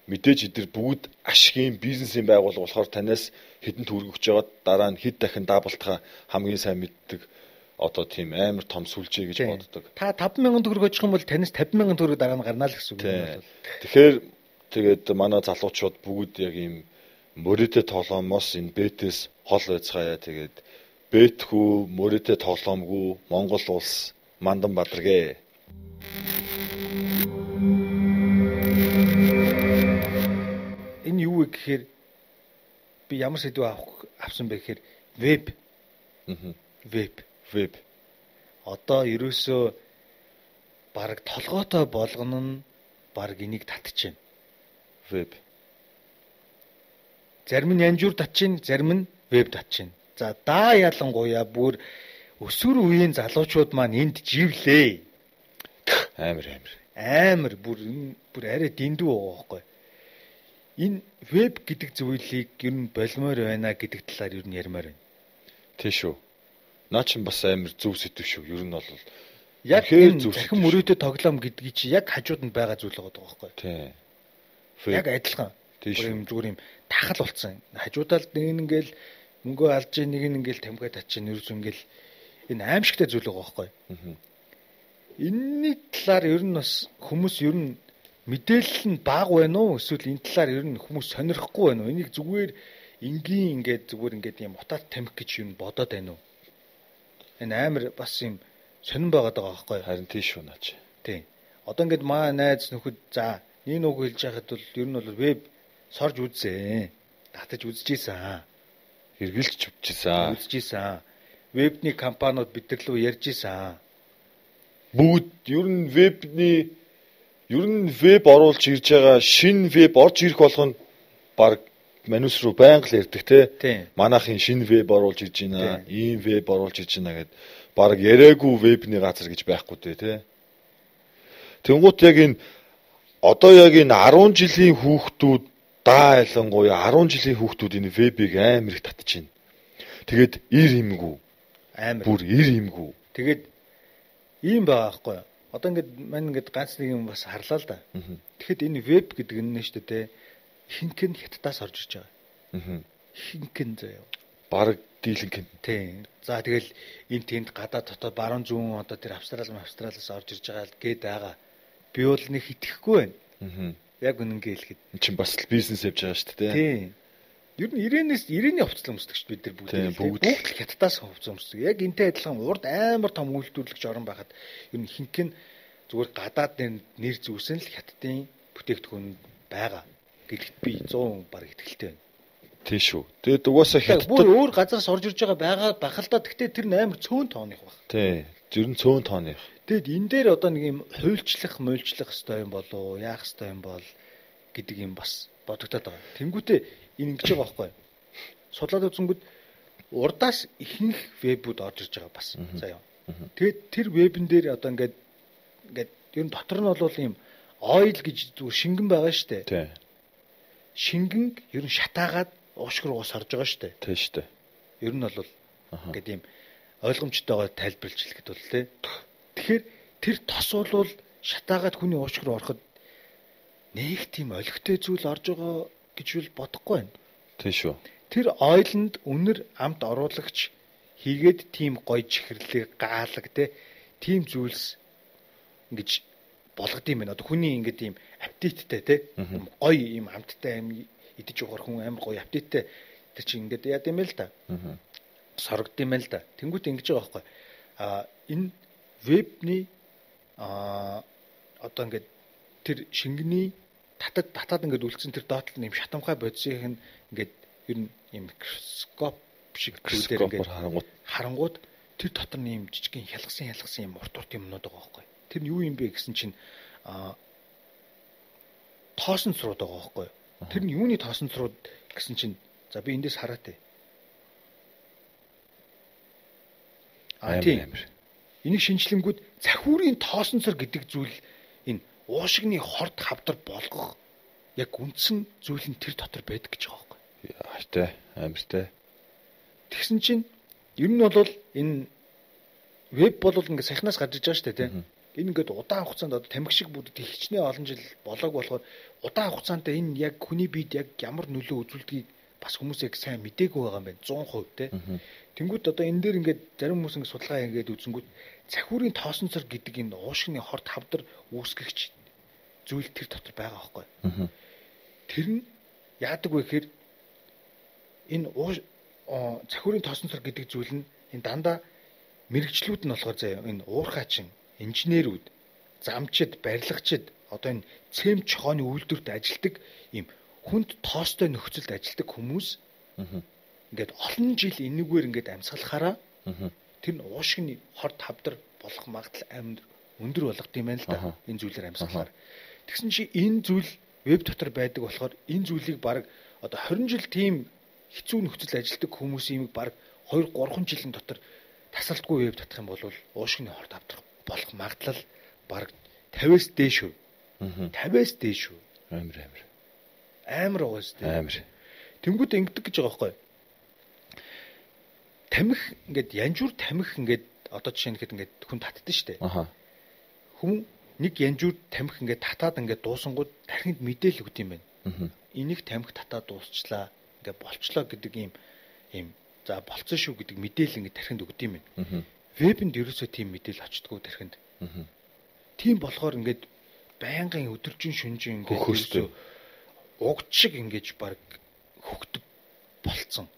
Мэдээж эдгээр бүгд ашигын бизнесийн байгууллага болохоор танаас хэдэн төгрөг өгч жагаад дараа нь хэд дахин даблтгаа хамгийн сайн мэддэг одоо тийм амар том сүлжээ гэж боддог. Та таван мянган төгрөг очих юм бол танаас тавин мянган төгрөг дараа нь гарнаа л гэсэн үг юм. Тэгэхээр тэгээд манай залуучууд бүгд яг ийм мөрөдөө тоглоомоос энэ бетээс хол байцгаая. Тэгээд бетхүү мөрөдөө тоглоомгүй Монгол улс мандан бадаргэ. Энэ юу вэ гэхээр би ямар сэдв авах авсан бэ гэхээр веб. Аа. Веб. Веб. Одоо ерөөсөө баг толгойтой болгоно нь баг энийг татчихэв. Веб. Зарим нь янжуур татчихэв, зарим нь веб татчихэв. За даа ялангуяа бүр өсвөр үеийн залуучууд маань энд живлээ. Амар амар. Амар бүр бүр арай дэндүү байгаа байхгүй. Энэ веб гэдэг зүйлийг ер нь болмоор байна гэдэг талаар ер нь ярмаар байна. Тий шүү. Наа чин бас амар зөв сэдв шүү. Ер нь бол яг энэ захин мөрөөдөө тоглоом гэдгийг чи яг хажууд нь байгаа зүйл байгаа байхгүй. Тий. Яг адилхан. Тий шүү. Юм зүгээр юм тахал болцсон. Хажуудаа л нэг нь ингээл мөнгөө алж нэг нь ингээл тамхиа татчих нь ерөөс ингээл энэ аимшигтай зүйл байгаа байхгүй. Аа. Энэний талаар ер нь бас хүмүүс ер нь мэдээлэл нь бага байна уу эсвэл энэ талаар ер нь хүмүүс сонирхгүй байна уу? Энийг зүгээр энгийн ингээд зүгээр ингээд юм утаад тамхи гэж юм бодоод байна уу? Энэ амар бас юм сонирн байгаад байгаа байхгүй. Харин тийш үү наач. Тийм. Одоо ингээд маа найз нөхөд за нэг үг хэлж яхад бол ер нь бол веб сорж үзээ. Татаж үзчихсэн. Хэргэлж үзчихсэн. Үзчихсэн. Вебний компаниуд бидэрлүү ярьжсэн. Бүгд ер нь вебний ер нь веб оруулж ирж байгаа шинэ веб орж ирэх болгоно баг манус руу байнга л ярьдаг те. Манайхын шинэ веб оруулж ирж байна. Ийм веб оруулж ирж байна гэд баг яриаггүй вебний газар гэж байхгүй дээ те. Тэнгуут яг энэ одоо яг энэ десять жилийн хүүхдүүд даа ялангуяа десять жилийн хүүхдүүд энэ вебийг амар их татж байна. Тэгээд ир имгүү. Амар. Бүр ир имгүү. Тэгээд ийм байгаа байхгүй юу? Одоо ингээд мань ингээд ганц нэг юм бас харлаа л да. Тэгэхэд энэ веб гэдэг нь нэ шүү дээ. Хинхэн хятадаас орж ирж байгаа. Аа. Хинхэн заяа. Бараг дийлэнхэн. Тийм. За тэгэл энэ тэнд гадаа дотоод баруун зүүн одоо тэр Австрали Австралиас орж ирж байгаа л гээд байгаа. Би бол нэг итгэхгүй байна. Аа. Яг үнэнгээ хэлэхэд. Энд чинь бас бизнес явж байгаа шүү дээ. Тийм. Ер нь ирээнээс ирээний хувцлан өмсдөг шүү бид нар бүгд. Бүгд л хятадаас хувцлан өмсдөг. Яг энтэй адилхан урд амар том үйлдвэрлэгч орон байхад ер нь хинхэн зүгээр гадаад нэр зүүсэн л хятадын бүтээгдэхүүн байгаа. Гэдэгт би сто баг итгэлтэй байна. Тийм шүү. Тэгээд угаасаа хятад бүр өөр газараас орж ирж байгаа байгаа бахалдаа гэхдээ тэр нь амар цөөн тооных баг. Тийм. Ер нь цөөн тооных. Тэгэд энэ дээр одоо нэг юм хуульчлах, муульчлах хэвээр юм болоо, яах хэвээр юм бол гэдэг юм бас бодогдоод байгаа. Тэнгүүтээ энэ ингэж байгаа байхгүй. Судлаад үзэнгүүт урдаас ихэнх вебүүд орж ирж байгаа бас. Заяа. Тэгээд тэр вебэн дээр одоо ингээд ингээд ер нь дотор нь бол ийм ойл гэж зүгээр шингэн байгаа шүү дээ. Тий. Шингэн ер нь шатаагаад уушг руу ус орж байгаа шүү дээ. Тий шүү дээ. Ер нь бол ингээд ийм ойлгомжтойгоор тайлбарлаж хэлэхэд бол тий. Тэгэхээр тэр тос бол шатаагаад хүний уушг руу ороход нэг тийм олигтой зүйл орж байгаа гэж бол бодохгүй байна. Тий шүү. Тэр ойлонд үнэр амт оруулагч хийгээд тийм гоё чихэрлэг гаалаг те тийм зүйлс ингэж болгод юм байна. Одоо хүний ингээд ийм аппетиттэй те гоё ийм амттай аим идэж явах хүн амар гоё аппетиттэй тэр чинь ингээд яа гэм л да. Сорогд юм л да. Тэнгүүт ингэж байгаа байхгүй. А энэ вебний а одоо ингээд тэр шингэний татад татаад ингээд үлдсэн тэр доотлол нь юм шатамхай бодисыг ингээд ер нь юм микроскоп шиг зүйлээр ингээд харангууд харангууд тэр дотор нь юм жижигхэн хялгсан хялгсан юм урт урт юмнууд байгаа байхгүй. Тэр нь юу юм бэ гэсэн чинь а тоосонцрууд байгаа байхгүй. Тэр нь юуны тоосонцрууд гэсэн чинь за би эндээс хараатай. А тийм. Энийг шинжлэнгүүд цахиурын тоосонцор гэдэг зүйл энэ уушигны хорд хавдар болгох яг үндсэн зүйл нь тэр дотор байдаг гэж байгаа байхгүй. Яартай, амартай. Тэгсэн чинь ер нь бол энэ веб бол ингээд сахинаас гарч иж байгаа шүү дээ тийм. Энэ ингээд удаан хугацаанд одоо тамхи шиг бүдэд хичнээн олон жил болоог болохоор удаан хугацаанд энэ яг хүний биед яг ямар нөлөө үзүүлдгийг бас хүмүүс яг сайн мдээгүй байгаа юм байна. сто процент тийм. Тэнгүүд одоо энэ дээр ингээд зарим хүмүүс ингээд судалгаа хийгээд үзэнгүүт цахиурын тоосонцор гэдэг энэ уушгины хорт хавдар үүсгэгч зүйл тэр дотор байгаа байхгүй. Тэр нь яадаг вэ гэхээр энэ цахиурын тоосонцор гэдэг зүйл нь энэ дандаа мэрэгчлүүд нь болохоор заяа энэ уурхаачин, инженерүүд, замчид, барилгачид одоо энэ цэм чохооны үйлдвэрт ажилдаг ийм хүнд тоостой нөхцөлд ажилдаг хүмүүс ингээд олон жил энэгээр ингээд амьсгалахаараа тэр нь уушгины хорд хавдар болох магадлал амьд өндөр болгох юм байна л да. Энэ зүйлээр амьсгалахаар. Тэгсэн чи энэ зүйл веб дотор байдаг болохоор энэ зүйлийг баг одоо хорин жил тийм хэцүү нөхцөлд ажилдаг хүмүүсийн юм баг хоёр гурван жилийн дотор тасалдгүй веб татах юм бол уушгины хорд хавдар болох магадлал баг тавиас дээш шүү. тавиас дээш шүү. Амар амар. Амар уус тийм. Амар. Тэнгүүд ингэдэг гэж байгаа байхгүй. Тамхи ингээд янжуур тамхи ингээд одоо жишээ нь хэд ингээд хүн татдсан шүү дээ. Аха. Хүн нэг янжуур тамхи ингээд татаад ингээд дуусангууд тархинд мэдээлэл өгд юм байна. Аа. Энийг тамхи татаад дуусчлаа. Ингээд болчлоо гэдэг ийм ийм за болцсон шүү гэдэг мэдээлэл ингээд тархинд өгд юм байна. Аа. Вебэнд ерөөсөө тийм мэдээлэл очтдгүй тархинд. Аа. Тийм болохоор ингээд байнгын өдөржин шүнжин ингээд ерөөсөө угчиг ингэж баг хөгдөг болцсон.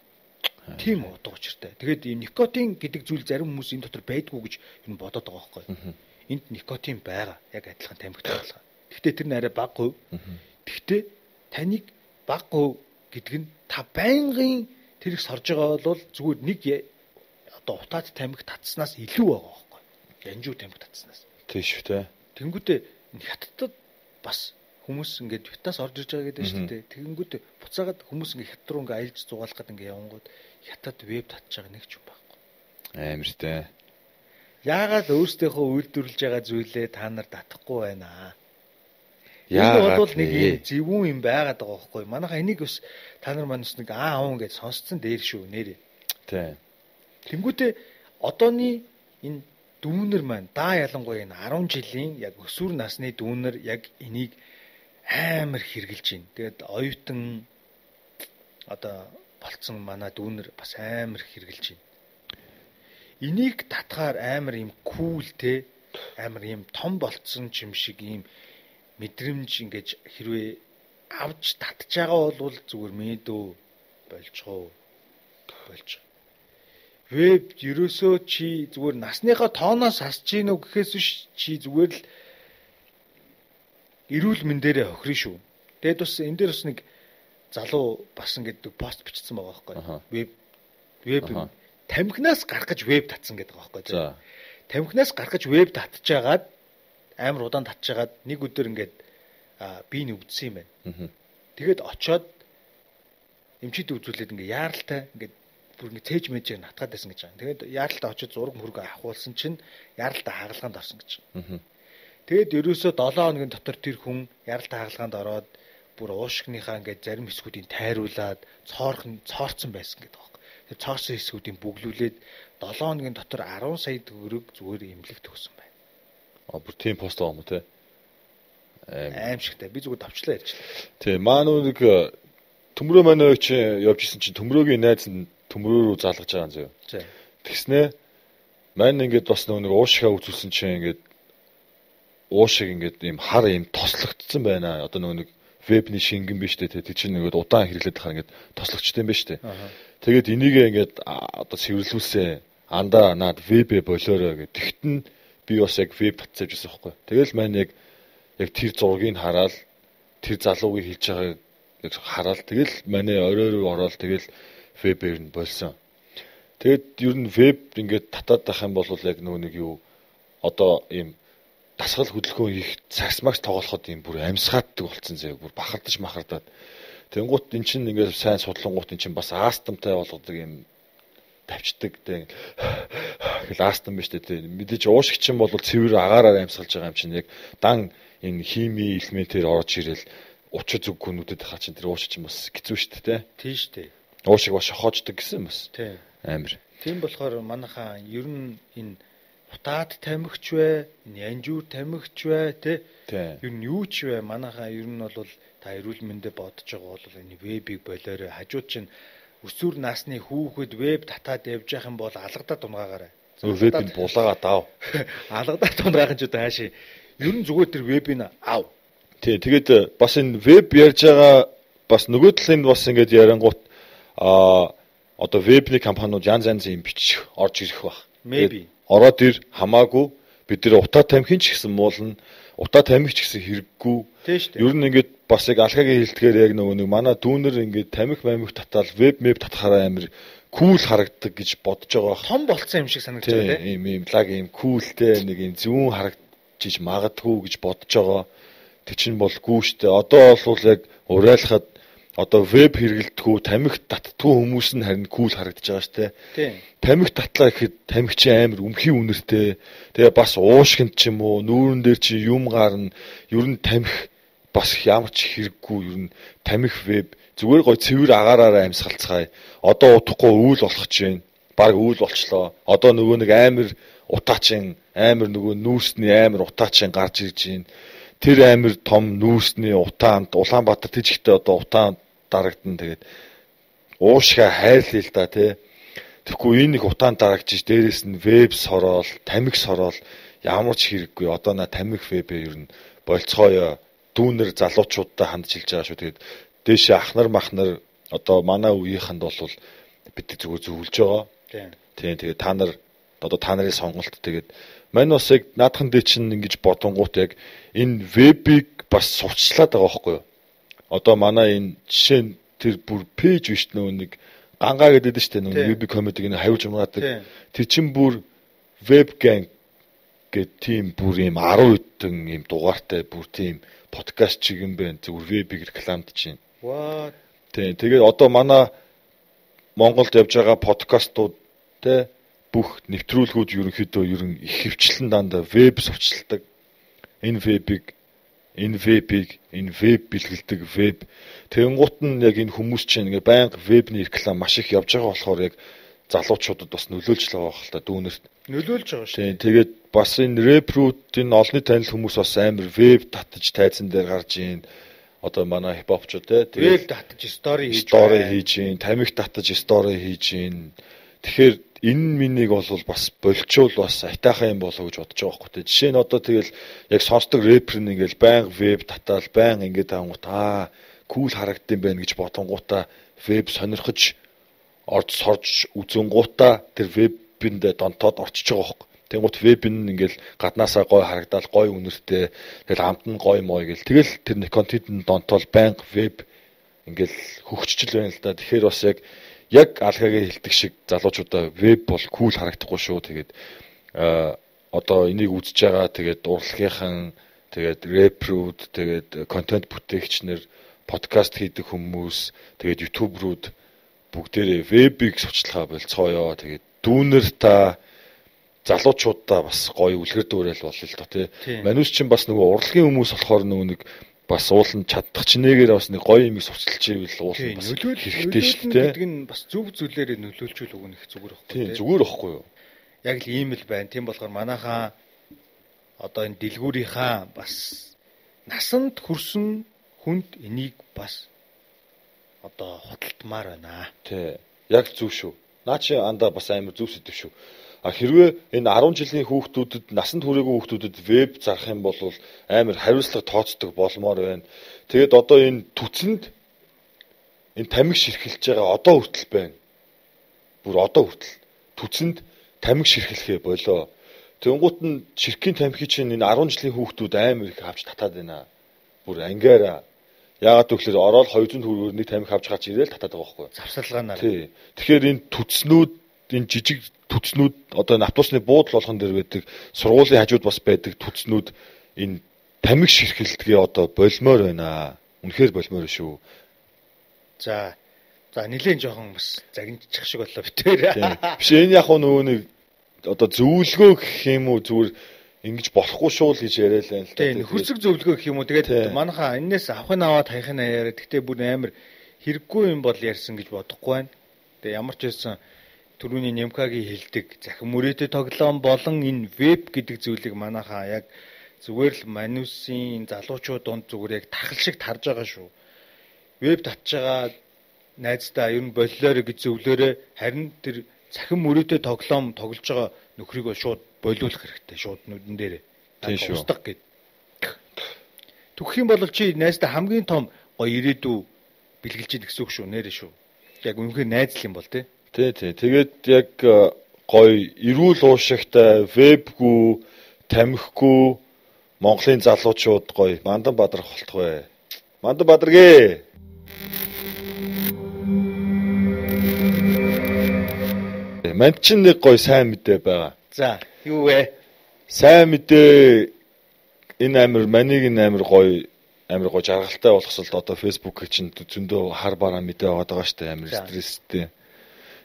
Тийм утга учиртай. Тэгээд ийм никотин гэдэг зүйл зарим хүмүүс энэ дотор байдгүй гэж энэ бодоод байгаа байхгүй. Энд никотин байгаа. Яг адилхан тамхитай байгаа. Гэхдээ тэр нь арай бага хувь. Гэхдээ таныг бага хувь гэдэг нь та байнгын тэр их сорж байгаа бол зүгээр нэг одоо утаад тамхи татснаас илүү байгаа байхгүй. Янжуу тамхи татснаас. Тийш үү. Тэнгүүтээ хятадд бас хүмүүс ингээд хятадаас орж ирж байгаа гэдэг шүү дээ. Тэгэнгүүт буцаагаад хүмүүс ингээд хятад руу ингээд аялж зугаалах гэдэг ингээд явангууд хятад веб татж байгаа нэг ч юм байхгүй. Амартай. Яагаад өөрсдийнхөө үйлдвэрлэж байгаа зүйлээ та нар татахгүй байна аа? Яагаад бол нэг юм зөвүүн юм байгаад байгаа байхгүй. Манайха энийг бас та нар манайс нэг аа аван гэж сонсцсон дээр шүү нэрээ. Тийм. Тэнгүүтээ одооний энэ дүүнер маань даа ялангуяа энэ арван жилийн яг өсвөр насны дүүнер яг энийг амар хэрглэж байна. Тэгээд оюутан одоо болцсон манай дүүнер бас амар хэрглэж байна. Энийг татгаар амар юм кул те амар юм том болцсон юм шиг юм мэдрэмж ингэж хэрвээ авч татж байгаа бол зүгээр мэдөө болчихоо болж. Веб ерөөсөө чи зүгээр насныхаа тооноос хасж гин үү гэхээс биш чи зүгээр л эрүүл мэндээрээ хохирно шүү. Тэгэд бас энэ дээр бас нэг залуу бас ингэдэг пост бичсэн байгаа байхгүй. Веб веб тамхинаас гаргаж веб татсан гэдэг байгаа байхгүй. За. Тамхинаас гаргаж веб татчихагаад амар удаан татчихагаад нэг өдөр ингээд би нүгдсэн юм байна. Тэгэд очоод эмчид үзүүлээд ингээ яаралтай ингээд бүр ингээ цээж мэжээр натгаад байсан гэж байгаа. Тэгээд яаралтай очоод зураг мөргө авахулсан чинь яаралтай хагалгаанд орсон гэж. Тэгээд ерөөсөө долоон хоногийн дотор тэр хүн яралт хаалгаанд ороод бүр уушгийнхаа ингээд зарим хэсгүүдийг тайруулад цоорхон цоорцсон байсан гэдэг байна. Тэгээд цоорсон хэсгүүдийг бүглүүлээд долоон хоногийн дотор арван сая төгрөг зүгээр имлэгт өгсөн байна. А бүр тийм пост байгаа юм те. Аимшигтай. Би зүгээр давчлаа ярьчихлаа. Тийм маа нэг төмрөө манай чи явж исэн чинь төмрөөгийн найз нь төмрөө рүү залгаж байгаа юм зөө. Тэгснэ маань ингээд бас нэг уушгаа үзүүлсэн чинь ингээд уушиг ингээд ийм хар ийм тослогдсон байна. Одоо нэг вебний шингэн биш үү те. Тэг чинь ингээд удаан хэрэглээд хахаар ингээд тослогчтой юм байна шүү дээ. Тэгээд энийг ингээд одоо цэвэрлүүлсэн андаа наад веб болоорой гэх. Тэгтэн би бас яг веб татсаж байсан байхгүй. Тэгэл маань яг яг тэр зургийг хараад тэр залуугийн хэлж байгааг яг хараад тэгэл манай орой руу ороод тэгэл вебээр нь болсон. Тэгэд ер нь веб ингээд татаад байх юм бол яг нөгөө нэг юу одоо ийм дасгал хөдөлгөөн их цагсмагс тоглоход ийм бүр амьсгааддаг болцсон заяа бүр бахардаж махардаад. Тэнгуут эн чинь ингээд сайн судлангуут эн чинь бас астамтай болгодог ийм тавьчдаг тэг гэл астам биш дээ. Мэдээж уушиг чинь бол цэвэр агаараар амьсгалж байгаа юм чинь яг дан энэ хими элементээр орж ирэл учир зүг гүнүүдэд хаа чинь тэр уушиг чинь бас хэцүү шүү дээ. Тийм шүү дээ. Уушиг бас шохоождаг гэсэн бас. Тийм. Амир. Тийм болохоор манайхаа ер нь энэ утаад тамхич вэ, энэ янжуур тамхич вэ, тэ? Ер нь юу ч вэ? Манайхаа ер нь бол та эрүүл мэндэ бодож байгаа бол энэ вебийг болоорой. Хажууд чинь өсвөр насны хүүхэд веб татаад явж явах юм бол алгадаад унгаагаарай. Вебийг булаагаа дав. Алгадаад унгаахан ч удаа хааши. Ер нь зүгээр тэр вебийг ав. Тий, тэгээд бас энэ веб ярьж байгаа бас нөгөө талын бас ингэж ярангуут а одоо вебний компаниуд янз янзын бичих орж ирэх баг. Maybe. Ороод ир хамаагүй бид нэр утаа тамхин ч гэсэн муулна, утаа тамхи ч гэсэн хэрэггүй. Тийм шүү дээ. Ер нь ингээд бас яг алхагийн хэлдгээр яг нөгөө нэг манай дүүнер ингээд тамхи мамих татаал веб мэп татахаараа амир кул харагддаг гэж бодож байгаа. Том болцсон юм шиг санагдаж байна тийм. Ийм ийм лаг ийм култэй нэг ийм зүүн харагдчих магадгүй гэж бодож байгаа. Тэг чинь бол гүүштэй. Одоо бол яг урайлахад одоо веб хэрэглэдэггүй тамхи татдаггүй хүмүүс нь харин кул харагдаж байгаа шүү дээ. Тийм. Тамхи татлаа гэхэд тамхи чи амар өмхий үнэртэй. Тэгээ бас уушгинд ч юм уу, нүүрэн дээр чи юм гарна. Ер нь тамхи бас ямар ч хэрэггүй ер нь тамхи веб зүгээр гой цэвэр агаараараа амьсгалцгаая. Одоо удахгүй үүл болох ч юм. Бараг үүл болчлоо. Одоо нөгөө нэг амар утаачин, амар нөгөө нүүрсний амар утаачин гарч ирж байна. Тэр амар том нүүрсний утаанд Улаанбаатар тэжигтэй одоо утаанд дарагдана. Тэгээд уушгаа хайрлаа л да тий. Тэгэхгүй энэ их утаанд дарагдчих дээрээс нь веб сороол, тамхи сороол ямар ч хэрэггүй. Одоо на тамхи вебээ ер нь болцгоё. Дүүнер залуучуудтай хандж хэлж байгаа шүү. Тэгээд дээшээ ахнар махнар одоо манай үеийнхэнд бол бид зүгээр зөвлөж байгаа. Тийм. Тэгээд та нар одоо та нарын сонголт тэгээд мань бас яг наадхан дээр чинь ингэж бодонгууд яг энэ вебийг бас сурчлаад байгаа байхгүй юу? Одоо манай энэ жишээ нь тэр бүр пэйж биш нөө нэг гангаа гэдэг нь шүү дээ нөө веб комедиг нэг хавьж умаадаг. Тэр чинь бүр веб гэнг гэдэг тийм бүр ийм арав хэдэн ийм дугаартай бүр тийм подкаст чиг юм байна. Зүгээр вебийг рекламдж байна. Ваа. Тийм. Тэгээд одоо манай Монголд явж байгаа подкастууд те бүх нэвтрүүлгүүд ерөнхийдөө ерөн их хөвчлэн дандаа веб сувчилдаг. Энэ вебийг энэ вебийг энэ веб бэлгэлдэг веб. Тэнгуут нь яг энэ хүмүүс чинь ингээ байнга вебний реклам маш их явж байгаа болохоор яг залуучуудад бас нөлөөлж л байгаа хэл та дүүнерт. Нөлөөлж байгаа шүү. Тийм. Тэгээд бас энэ рэпрүүд энэ олонний танил хүмүүс бас амар веб татаж тайзан дээр гарч ийн. Одоо манай хипхопчууд те веб татаж стори хийж стори хийж ийн, тамхи татаж стори хийж ийн. Тэгэхээр энэ минийг бол бас болчвол бас айтайхан юм болоо гэж бодож байгаа байхгүй. Жишээ нь одоо тэгэл яг сонсдог рэпер нь ингээл байнга веб татаал байнга ингээд аангууд аа кул харагдсан байх гэж бодонгуудаа веб сонирхож орж сорж үзэнгуудаа тэр вебинд донтоод орчиж байгаа байхгүй. Тэнгуут веб нь ингээл гаднаасаа гой харагдаал гой үнэртэй тэгэл амт нь гой мой гэл тэгэл тэр контент донтол байнга веб ингээл хөгжчихл байна л да. Тэгэхээр бас яг яг алхагийн хэлдэг шиг залуучуудаа веб бол кул харагдахгүй шүү. Тэгээд одоо энийг үзэж байгаа тэгээд урлагийнхан тэгээд рэпрүүд тэгээд контент бүтээгчнэр подкаст хийдэг хүмүүс тэгээд ютуберүүд бүгдээрээ вебийг сурчлахаа болцгоё. Тэгээд дүүнер та залуучуудаа бас гоё үлгэр дуурайл болъё л доо тий. Манус чинь бас нөгөө урлагийн хүмүүс болохоор нөгөө нэг бас ууланд чадах чинээгээр бас нэг гоё юм сурчилж ивэл ууланд бас хэрэгтэй шүү дээ. Гэдэг нь бас зөв зүйлээрээ нөлөөлжүүл өгнө их зүгээр байхгүй тий. Зүгээр байхгүй юу? Яг л ийм л байна. Тийм болохоор манайхаа одоо энэ дэлгүүрийнхаа бас насанд хүрсэн хүнд энийг бас одоо худалдмаар байна. Тий. Яг зөв шүү. Наа чи андаа бас амар зөв сэдв шүү. А хэрвээ энэ арван жилийн хүүхдүүдэд насанд хүрээгүй хүүхдүүдэд веб зарах юм бол амар хариуцлага тооцдог болмоор байна. Тэгээд одоо энэ түцэнд энэ тамхи ширхэлж байгаа одоо хүртэл байна. Бүр одоо хүртэл түцэнд тамхи ширхэлхээ болоо. Тэнгуут нь ширхгийн тамхи чинь энэ арван жилийн хүүхдүүд амар их авч татаад байна. Бүр ангиараа. Яагаад гэвэл ороод двухсад төгрөгөөр нэг тамхи авч гарч ирээл татаад байгаа байхгүй юу? Завсарлагаанаар. Тий. Тэгэхээр энэ түцнүүд энэ жижиг түцнүүд одоо энэ автобусны буудлын болгон дээр байдаг, сургуулийн хажууд бас байдаг түцнүүд энэ тамхи ширхэлтгээ одоо болмоор байна. Үнэхээр болмоор шүү. За. За нэлээд жоохон бас загинчих шиг боллоо битээр. Биш энэ яг нөгөө нэг одоо зөвлөгөө гэх юм уу зүгээр ингэж болохгүй шүү л гэж яриад байна л да. Тийм хөрсөг зөвлөгөө гэх юм уу. Тэгээд манайхаа энээс авахын аваад хайхын яриад гэхдээ бүр амар хэрэггүй юм бол ярьсан гэж бодохгүй байна. Тэгээд ямар ч байсан түрүүний Немкагийн хэлдэг захин мөрөөдө тоглоом болон энэ веб гэдэг зүйлийг манайхаа яг зүгээр л манусын залуучууд донд зүгээр яг тахал шиг тарж байгаа шүү. Веб татж байгаа найздаа ер нь боллоо гэж зөвлөөрэй. Харин тэр захин мөрөөдө тоглоом тоглож байгаа нөхрийг бол шууд болиулах хэрэгтэй шууд нүдэн дээрээ. Тийм шүү. Устгах гэд. Түгэх юм бол чи найздаа хамгийн том гоё ирээдүй бэлгэлж ийн гэсэн үг шүү нэрээ шүү. Яг үнэхээр найзл юм бол тий. Тий, тий. Тэгээд яг гоё эрүүл уушигтай вебгүй тамхигүй Монголын залуучууд гоё Мандан Бадрах болтох вэ. Мандан Бадргээ. Манд чинь нэг гоё сайн мэдээ байгаа. За, юу вэ? Сайн мэдээ энэ амир манийг энэ амир гоё амир гоё жаргалтай болгосолд одоо фэйсбүүк чинь зөндөө хар бараа мэдээ аваад байгаа штэ амир стресстэй.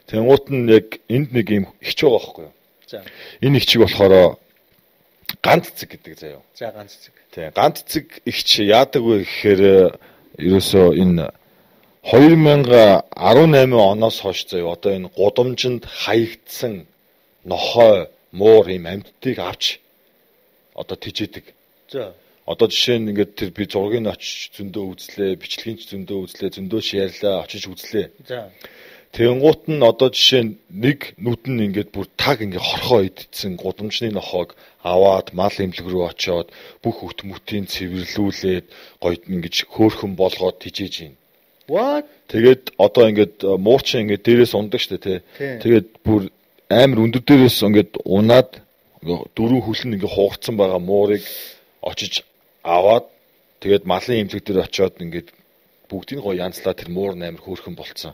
Тэнгуут нь яг энд нэг юм ихч байгаа байхгүй юу? За. Энэ ихчиг болохоор ганц цэг гэдэг заяа. За ганц цэг. Тий, ганц цэг ихч яадаг вэ гэхээр ерөөсөө энэ две тысячи десятв8 оноос хойш заяа одоо энэ гудамжинд хаягдсан нохой муур юм амьдтыг авч одоо тижээдэг. За. Одоо жишээ нь ингээд тэр би зургийг очиж зөндөө үзлээ, бичлэгийн зөндөө үзлээ, зөндөө шеэрлээ, очиж үзлээ. За. Тэнгуут нь одоо жишээ нь нэг нүд нь ингээд бүр таг ингээд хорхоо идсэн гудамжны нохойг аваад мал имлэг рүү очиод бүх өт мөтийн цэвэрлүүлээд гойд ингэж хөөхөн болгоод тижээж гин. What? Тэгээд одоо ингээд муурчин ингээд дээрээс ундаг штэ тий. Тэгээд бүр амар өндөр дээрээс ингээд унаад дөрөв хүлэн ингээд хуурцсан байгаа муурыг очиж аваад тэгээд малын имлэг дээр очиод ингээд бүгдийг гоё янзлаа тэр муур амар хөөхөн болцсон.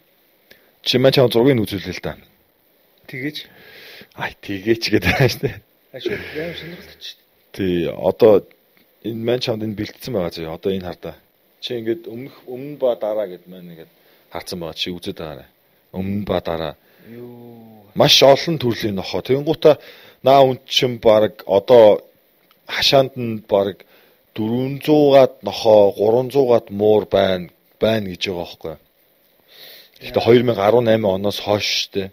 Чи маань чам зургийг үзүүлээ л да. Тэгэж. Ай тэгээч гэдэг байна штэ. Ашиг яа сонирхолтой. Тий, одоо энэ маань чамд энэ бэлдсэн байгаа зөө. Одоо энэ хардаа. Чи ингээд өмнөх өмнө ба дараа гэд маань ингээд харсан байгаа. Чи үзээд байгаа. Өмнө ба дараа. Юу. Маш олон төрлийн нохоо. Тэнгуутаа наа үн чин баг одоо хашаанд нь баг дөрвөнзуугаад нохоо, гуранзуугаад муур байна байна гэж байгаа байхгүй. Гэхдээ две тысячи десятв8 оноос хойш штэ.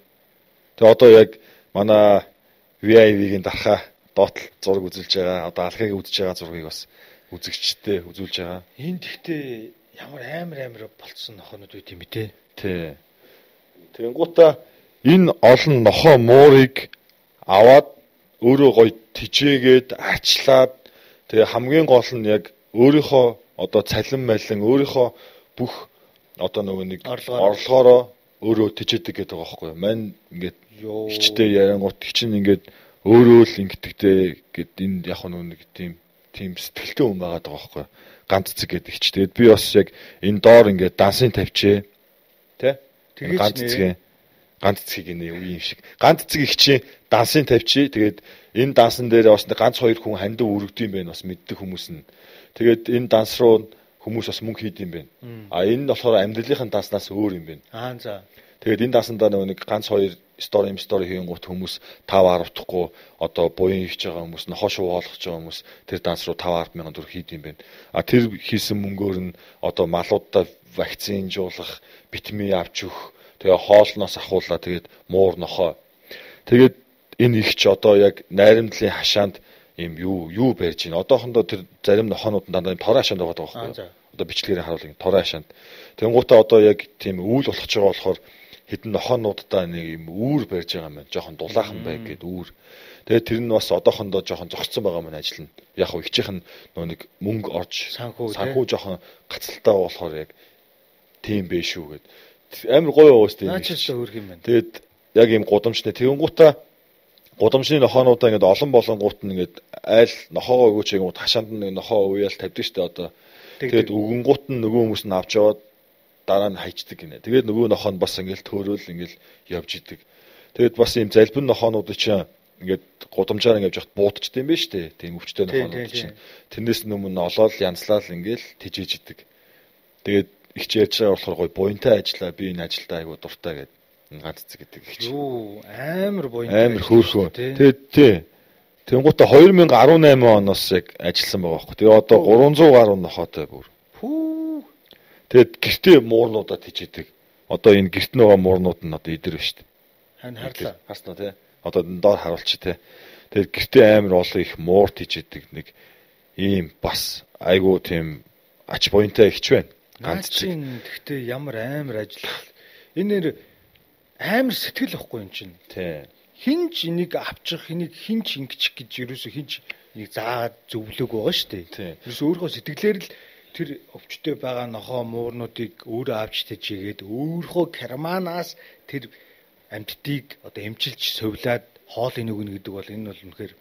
Тэгээ одоо яг манай ви ай ви-гийн дарахаа доотл зураг үзүүлж байгаа. Одоо алхагийг үзэж байгаа зургийг бас үзэгчтэй үзүүлж байгаа. Энд ихтэй ямар амар амар болцсон нохонууд үт юм бэ? Тий. Тэнгуутаа энэ олон нохоо муурыг аваад өөрөө гоё тижээгээд арчлаад тэгээ хамгийн гол нь яг өөрийнхөө одоо цалин малин өөрийнхөө бүх одоо нөгөө нэг орлогоороо өөрөө тижээдэг гэдэг байгаа байхгүй юу? Мань ингээд хичтэй ярангуут хичин ингээд өөрөө л ингэдэгтэй гэд энэ яг нөгөө нэг тийм тийм сэтгэлтэй хүн байгаа даа байхгүй юу? Ганц цэг гэдэг хич. Тэгээд би бас яг энэ доор ингээд дансын тавьчээ. Тэ? Ганц цэг. Ганц цэг гинэ юу юм шиг. Ганц цэг их чи дансын тавьчээ. Тэгээд энэ дансан дээр бас ганц хоёр хүн хандив өргөдөм байх бас мэддэг хүмүүс нь. Тэгээд энэ данс руу хүмүүс бас мөнгө хийд юм байна. А энэ нь болохоор амьдралынхаа данснаас өөр юм байна. Аа за. Тэгээд энэ даасандаа нэг ганц хоёр стори стори хийгэн гут хүмүүс тав десять одоо буян хийж байгаа хүмүүс нохоо шуу олгож байгаа хүмүүс тэр данс руу таван ардаа мянган төгрөг хийд юм байна. А тэр хийсэн мөнгөөр нь одоо малуудаа вакцинжуулах, витамин авч өгөх, тэгээ хоолноос ахуулаа тэгээд муур нохоо. Тэгээд энэ ихч одоо яг найрамдлын хашаанд юм юу юу барьж байна. Одоохондоо тэр зарим нохоонууд дандаа юм торын хашаанд байгаа байхгүй юу? Одоо бичлэгээр харуулъя торын хашаанд. Тэнгуутаа одоо яг тийм үйл болгож байгаа болохоор хэдэн нохоонуудаа нэг юм үүр барьж байгаа юм байна. Жохон дулаахан бай гэдэг үүр. Тэгээд тэр нь бас одоохондоо жохон зогссон байгаа маань ажил нь. Яг хөө ихчийнх нь нөө нэг мөнгө орж санхүү санхүү жохон гацалтай болохоор яг тийм бэ шүү гэд. Амар гоё уус тийм. Наач ч өөрх юм байна. Тэгээд яг ийм гудамжны тэгэнгуутаа гудамжны нохоонуудаа ингээд олон болонгууд нь ингээд айл нохоогоо өгөөч юм уу хашаанд нэг нохоо уяал тавьдаг штэ одоо. Тэгээд өгөнгуут нь нөгөө хүмүүс нь авч яваад дараа нь хайчдаг гинэ. Тэгээд нөгөө нохоо нь бас ингээд төөрөөл ингээд явж идэг. Тэгээд бас ийм залбин нохоонууд чинь ингээд гудамжаар ингээд явж буудчихдээ юм байна штэ. Тийм өвчтэй нохоонууд чинь. Тэрнээс өмнө олоод янзлал ингээд тижээж идэг. Тэгээд их ч ярьж байгаа болохоор гоё буянтай ажиллаа би энэ ажилдаа айгуу дуртай гэдэг. Ганц цэг гэдэг их ч. Юу амар буянтай. Амар хөөрхөө. Тэгээд тий. Тэнгуутаа две тысячи десемь оноос яг ажилласан байгаа байхгүй. Тэгээ одоо trois hundred гаруй нохоотой бүр. Пүү. Тэгээд гэртээ муурнуудаа тижээдэг. Одоо энэ гэрт нөгөө муурнууд нь одоо идэр байна шүү дээ. Хань харлаа. Хаснаа тий. Одоо доор харуулчих тий. Тэгээд гэртээ амар олон их муур тижээдэг нэг ийм бас айгуу тийм ач буянтай ихч байна. Ганц чинь гэхдээ ямар амар ажил. Энэ нэр амар сэтгэл واخгүй юм чинь. Тий. Хинч энийг авчих, энийг хинч ингэчих гэж ерөөсө хинч энийг заагаад зөвлөөг байгаа шүү дээ. Ерөөсө өөрийнхөө сэтгэлээр л тэр өвчтөй байгаа нохоо муурнуудыг өөрөө авч тэжээгээд өөрийнхөө карманаас тэр амьтдыг одоо эмчилж сувлаад хоолыг нөгнө гэдэг бол энэ бол үнэхээр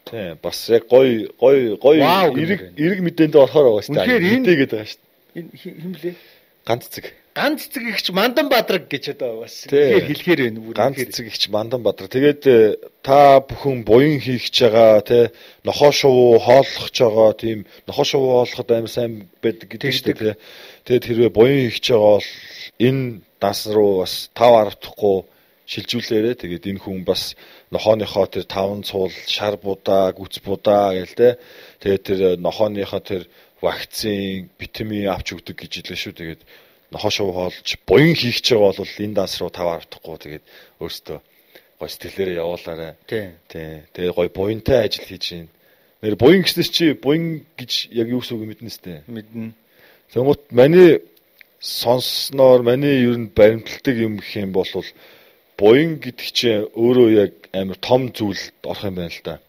тий бас яг гой гой гой эрэг эрэг мэдээндээ орохоор байгаа шүү дээ. Мэдээгээд байгаа шүү дээ. Энэ химлээ ганц цэг. Ганц цэг ихч Мандан Бадраг гэж одоо бас хэлэхээр хэлэхээр байна бүр. Ганц цэг ихч Мандан Бадраг. Тэгээд та бүхэн буян хийх гэж байгаа тий нохоо шувуу хооллох гэж байгаа тийм нохоо шувуу хооллоход амар сайн байдаг гэдэг шүү дээ тий. Тэгээд хэрвээ буян хийх гэж байгаа бол энэ данс руу бас тав аравдахгүй шилжүүлээрэ. Тэгээд энэ хүн бас нохооныхоо тэр таван цуул шар будаа гүц будаа гээл тий. Тэгээд тэр нохооныхоо тэр вакцин витамин авч өгдөг гэж хэлсэн шүү. Тэгээд нохоо шуу хоолж буян хийх гэж байгаа бол энэ данс руу тав аравдахгүй тэгээд өөртөө гой сэтгэлээрээ явуулаарай. Тий. Тий. Тэгээд гой буянтай ажил хийж гин. Нэр буян гэснээс чи буян гэж яг юу гэсэн үг мэднэ сте. Мэднэ. Тэгмэд маний сонсноор маний ер нь баримтлагдаг юм гэх юм бол буян гэдэг чинь өөрөө яг амар том зүйлд орох юм байна л да.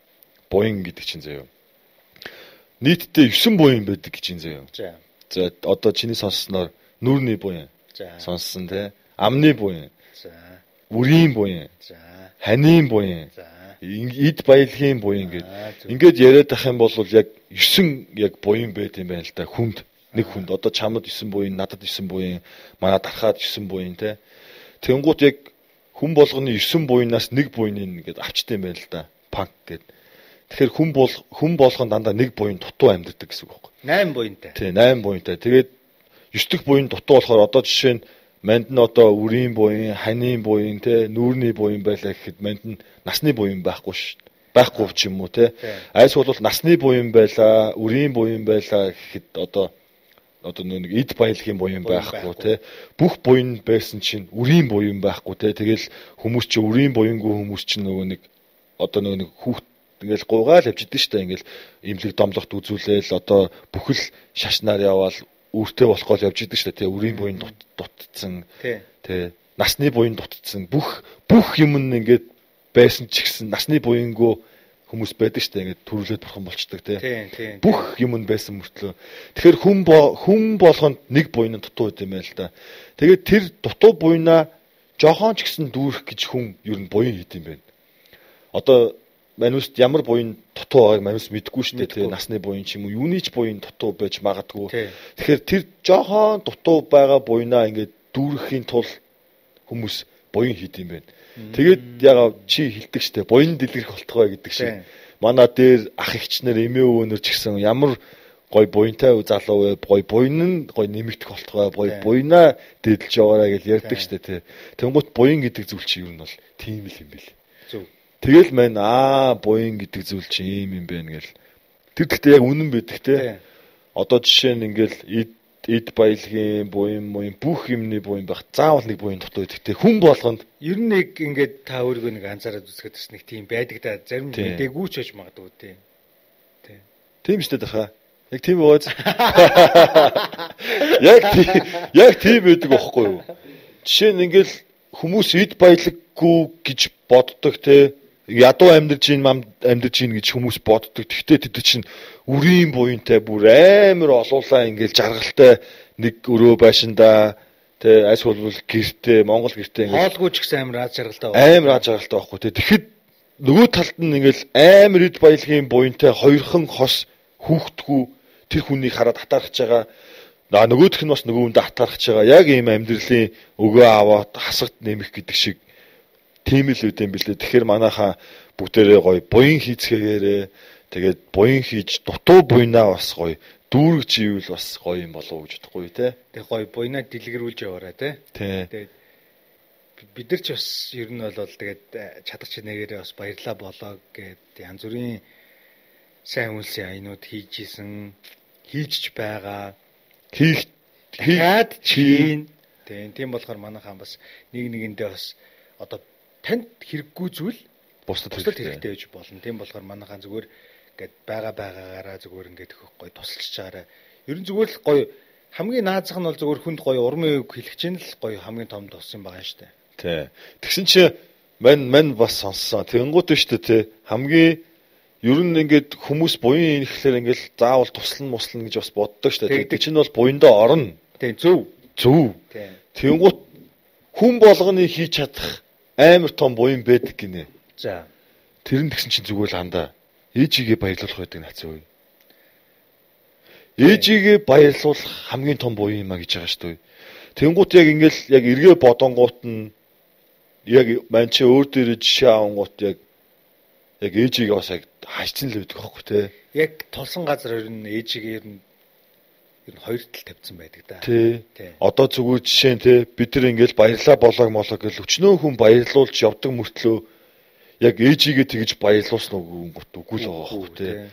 Буян гэдэг чинь заяа. Нийтдээ нine буян байдаг гэж юм заяа. За. За одоо чиний сонссноор нүрний буян. За. Сонссон тий. Амны буян. За. Үрийн буян. За. Ханийн буян. За. Эд баялагын буян гэдэг. Ингээд яриад ах юм бол яг nine яг буян байт юм байна л да. Хүнд нэг хүнд одоо чамд nine буян, надад nine буян, манай дархаад nine буян тий. Тэнгуут яг хүн болгоны nine буянаас нэг буяныг ингээд авчтай юм байна л да. Панк гэдэг. Тэгэхээр хүн бол хүн болгон дандаа нэг буян дутуу амьддаг гэсэн үг байхгүй. nine буянтай. Тий, nine буянтай. Тэгээд nine дэх буян дутуу болохоор одоо жишээ нь манд нь одоо үрийн буян, ханийн буян, тий, нүүрний буян байлаа гэхэд манд нь насны буян байхгүй ш. Байхгүй ч юм уу тий. Айс бол насны буян байлаа, үрийн буян байлаа гэхэд одоо одоо нэг эд баялагын буян байхгүй тий. Бүх буян байсан чинь үрийн буян байхгүй тий. Тэгэл хүмүүс чинь үрийн буянгүй хүмүүс чинь нөгөө нэг одоо нөгөө нэг хүүхд ингээл гуйгаал явж идэв штэ ингээл имлэг домлохт үзүүлээл одоо бүхэл шашнаар яваал үртэй болохгүй явж идэв штэ тий үрийн буян дутцсан тий насны буян дутцсан бүх бүх юм нь ингээд байсан ч гэсэн насны буянгүй хүмүүс байдаг штэ ингээд төрүүлээд бурхан болчдөг тий бүх юм нь байсан мөртлөө тэгэхээр хүн хүн болгонд нэг буян дутуу байт юм байл та тэгээд тэр дутуу буйнаа жохон ч гэсэн дүүрэх гэж хүн ер нь буян хийд юм байна одоо мануст ямар буян дутуу байгааг манус мэдгүй шүү дээ тий насны буян ч юм уу юуны ч буян дутуу байж магадгүй тэгэхээр тэр жоохон дутуу байгаа буйнаа ингээд дүүрэхийн тулд хүмүүс буян хийд юм байна тэгээд ягаа чи хилдэг штэ буян дэлгэрэх болтгой гэдэг шиг манай дээр ах эгчнэр эмээ өвөнөр ч гэсэн ямар гой буянтай залуу бай, гой буян нь гой нэмэгдэх болтгой, гой буянаа дээдлж яваарай гэж ярьдаг штэ тий. Тэнгуут буян гэдэг зүйл чи юу нь бол тийм л юм бэл. Зөв. Тэгэл мань аа буян гэдэг зүйл чи ийм юм бэ гэл. Тэр гэхдээ яг үнэн байдаг тий. Одоо жишээ нь ингээл эд эд баялагын буян буян бүх юмны буян байх. Заавал нэг буян дутуу байдаг тий. Хүн болгонд ер нь нэг ингээд та өөрийгөө нэг анзаараад үзэхэд бас нэг тийм байдаг да. Зарим мэдээгүй ч байж магадгүй тий. Тий. Тийм штэ дахаа. Яг тийм ууз. Яг яг тийм байдаг байхгүй юу? Жишээ нь ингээл хүмүүс эд баялаггүй гэж боддог те. Ядуу амьдарч ийн мам амьдарч ийн гэж хүмүүс боддог. Тэгтээ тэд чинь үрийн буянтай бүр амар олуулаа ингээл жаргалтай нэг өрөө байшинда те айс болвол гэртээ Монгол гэртээ ингээл хоолгүй ч гэсэн амар аз жаргалтай байна. Амар аз жаргалтай байхгүй те. Тэгэхэд нөгөө талд нь ингээл амар эд баялагын буянтай хоёрхан хос хүүхдгүү тэр хүнийг хараад хатаарч байгаа. Аа нөгөөх нь бас нөгөө хүндээ хатаарч байгаа. Яг ийм амьдралын өгөө аваад хасагт нэмэх гэдэг шиг тийм л үт юм билээ. Тэгэхээр манайхаа бүгдээрээ гоё буян хийцгээгээрээ тэгээд буян хийж дутуу буйнаа бас гоё дүүргэж ивэл бас гоё юм болов уу гэж бодохгүй те. Тэг гоё буйнаа дэлгэрүүлж яваарай те. Тэгээд бид нар ч бас ер нь бол тэгээд чадах чинээгээр бас баярлаа болоо гэд янз бүрийн сайн үйлсийн аянууд хийжсэн хийжж байгаа хийх хийад чинь тийм болохоор манайхаа бас нэг нэгэндээ бас одоо танд хэрэггүй зүйл бусдад хэрэгтэй байж болно. Тийм болохоор манайхаа зүгээр ингээд байгаа байгаагаараа зүгээр ингээд гоё тусалж чагаараа. Ер нь зүгээр л гоё хамгийн наазах нь бол зүгээр хүнд гоё урмын үг хэлэх чинь л гоё хамгийн том тус юм байгаа шүү дээ. Тий. Тэгсэн чи мань мань бас сонссон. Тэнгууд шүү дээ тий. Хамгийн ер нь ингээд хүмүүс буян инэхлээр ингээд заавал туслан муслан гэж бас боддог шүү дээ. Тэг чинь бол буяндаа орно. Тий зөв. Зөв. Тэнгууд хүн болгоны хийж чадах амар том буян байдаг гинэ. За. Тэр нь тэгсэн чинь зүгээр л хандаа. Ээжигээ баярлуулах байдаг нацаа үе. Ээжигээ баярлуулах хамгийн том буян юм а гэж байгаа шүү дээ. Тэнгууд яг ингээл яг эргээ бодонгууд нь яг мань чи өөр дээрээ жишээ авангууд яг яг ээжигээ бас яг хайцсан л байдаг аахгүй те. Яг тулсан газар ер нь ээжигээ ер нь ер нь хоёр тал тавьсан байдаг да. Тий. Одоо зүгээр жишээ нь те бид нар ингээл баярлаа болоог молоог гэл өчнөө хүн баярлуулж явдаг мөртлөө яг ээжигээ тэгж баярлуулсан уу үгүй л байгаа аахгүй те.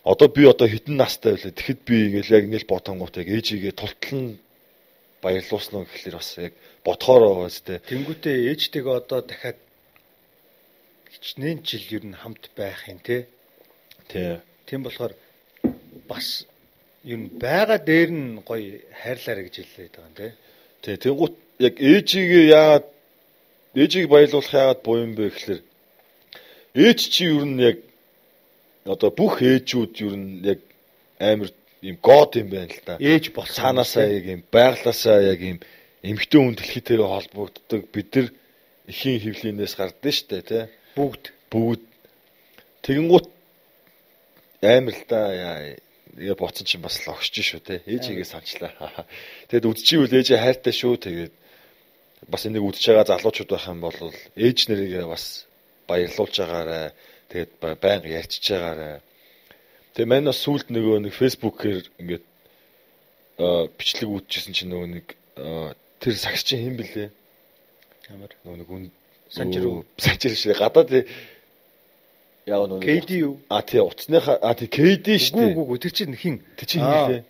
Одоо би одоо хитэн настай байлаа. Тэгэхэд би ингээл яг ингээл бодонгууд яг ээжигээ тултлан баярлуулсан уу гэхэлэр бас яг бодхоор байгаа зү. Тэнгүүтээ ээжтэйгээ одоо дахиад хичнээн жил ер нь хамт байх юм те. Тий. Тийм болохоор бас ер нь байгаа дээр нь гоё хайрлаарай гэж хэлээд байгаа юм те. Тий. Тэнгуут яг ээжигээ яагаад ээжийг баярлуулах яагаад буян бэ гэхэлэр ээж чи ер нь яг одоо бүх ээжүүд ер нь яг амар ийм год юм байна л да. Ээж болсон. Цаанаасаа яг ийм байглаасаа яг ийм эмхтэн хүн дэлхийдээ холбогддог бид нар эхийн хөвлийнээс гардсан шүү дээ тий. Бүгд бүгд тэгэнгუთ амар л да яа боцсон чинь бас л огшиж шүү тий. Ээжигээ санчлаа. Тэгэд үдчихвэл ээжээ хайртай шүү. Тэгээд бас энийг үдчихэж байгаа залуучууд байх юм бол ээж нэрийгээ бас баярлуулж байгаарай. Тэгээд байнга ярьчиж байгаарай. Тэгээ маань бас сүүлд нөгөө нэг фэйсбүүкээр ингээд бичлэг үүтчихсэн чинь нөгөө нэг тэр сагч чинь хэм блэ? Ямар нөгөө нэг үн санжируу санжир шиг гадаад яг нөгөө кей ди юу? А тий утасныхаа а тий кей ди шүү дээ. Үгүй үгүй тэр чинь хин? Тэр чинь хин лээ.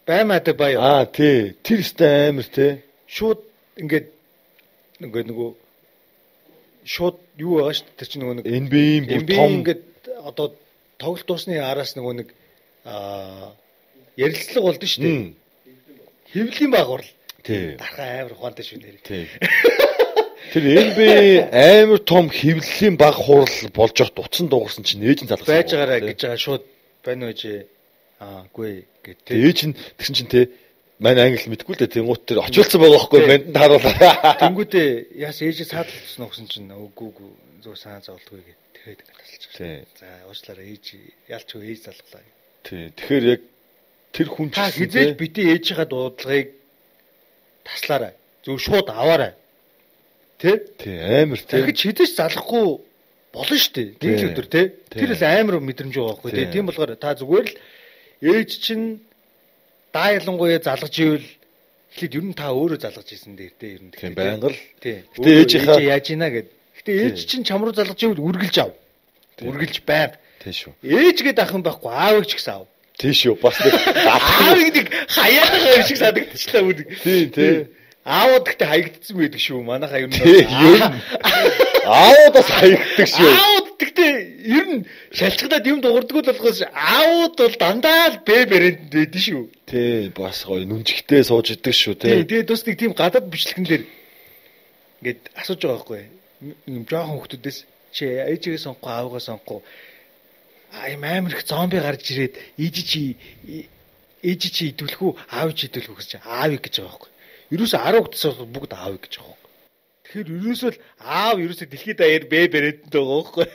Баймаатай баяа. А тий тэр өстэй амар тий. Шууд ингээд нөгөө нөгөө шууд юу байгаа шүү дээ. Тэр чинь нөгөө нэг эн би юм бүр том ингээд одоо тоглолт дуусны араас нөгөө нэг аа ярилцлага болдсон шүү дээ. Хэвлийн байгуурл. Тий. Дархаа амар ухаантай шүү нэр. Тий. Тэр эн би амар том хэвлэлийн баг хурал болж явах утсан дуугарсан чинь ээж нь залгасан. Байж байгаараа гэж байгаа шууд байна уу чи аа үгүй гэт. Ээж нь тэгсэн чинь тий манай англи мэдгүй л дээ тэнгуут тэр очилцсан байгаа байхгүй банд харуулаа. Тэнгүүтээ яас ээжээ саадалцсан уу гэсэн чинь үгүй үгүй зөв санаа зовлтгүй гэд тэгээд ингээд тасалчих. Тий. За уучлаарай ээж ялч уу ээж залглаа. Тий. Тэгэхээр яг тэр хүн та хизээж бити ээжийнхаа дуудлагыг таслаарай. Зөв шууд аваарай. Тэ? Тий амар тий. Тэгэхэд хизээж залахгүй болно шүү дээ. Нэг л өдөр тий. Тэр л амар мэдрэмж байгаа байхгүй тий. Тийм болохоор та зүгээр л ээж чинь даа ялангуяа залгаж ивэл эхлээд ер нь та өөрөө залгаж ийсэн дээр те ер нь тийм байнга л. Тий. Гэтэ ээжийнхаа яаж ийна гэд. Гэтэ ээж чинь чам руу залгаж ивэл үргэлж ав. Үргэлж байг. Тийм шүү. Ээж гээд ах юм байхгүй аавыг ч гэсэн ав. Тийм шүү. Бас нэг аавыг нэг хаяадаг юм шиг санагдчихлаа үү. Тийм тий. Аавууд гэхдээ хаягдсан байдаг шүү. Манайхаа ер нь ер нь аавууд бас хаягддаг шүү. Аавууд гэхдээ ер нь шалчгадаад юм дуурдггүй болохоос аавууд бол дандаа л бэ брэнд байдэн шүү. Тий, бас гоё нүнжигтэй сууж идэг шүү тий. Тий, тэгээ тус нэг тийм гадаад бичлэгэн дээр ингээд асууж байгаа байхгүй. Юм жоохон хүмүүсээс чи ээжигээ сонгохгүй аавгаа сонгохгүй. Аа юм амар их зомби гарч ирээд ээж чи ээж чи идүүлэх үү, аав чи идүүлэх үү гэж аавыг гэж байгаа байхгүй. Ерөөсө арав хүтсээс бүгд аавыг гэж байгаа. Тэгэхээр ерөөсөө л аав ерөөсөө дэлхийд даяар бэ брэдэнд байгаа байхгүй.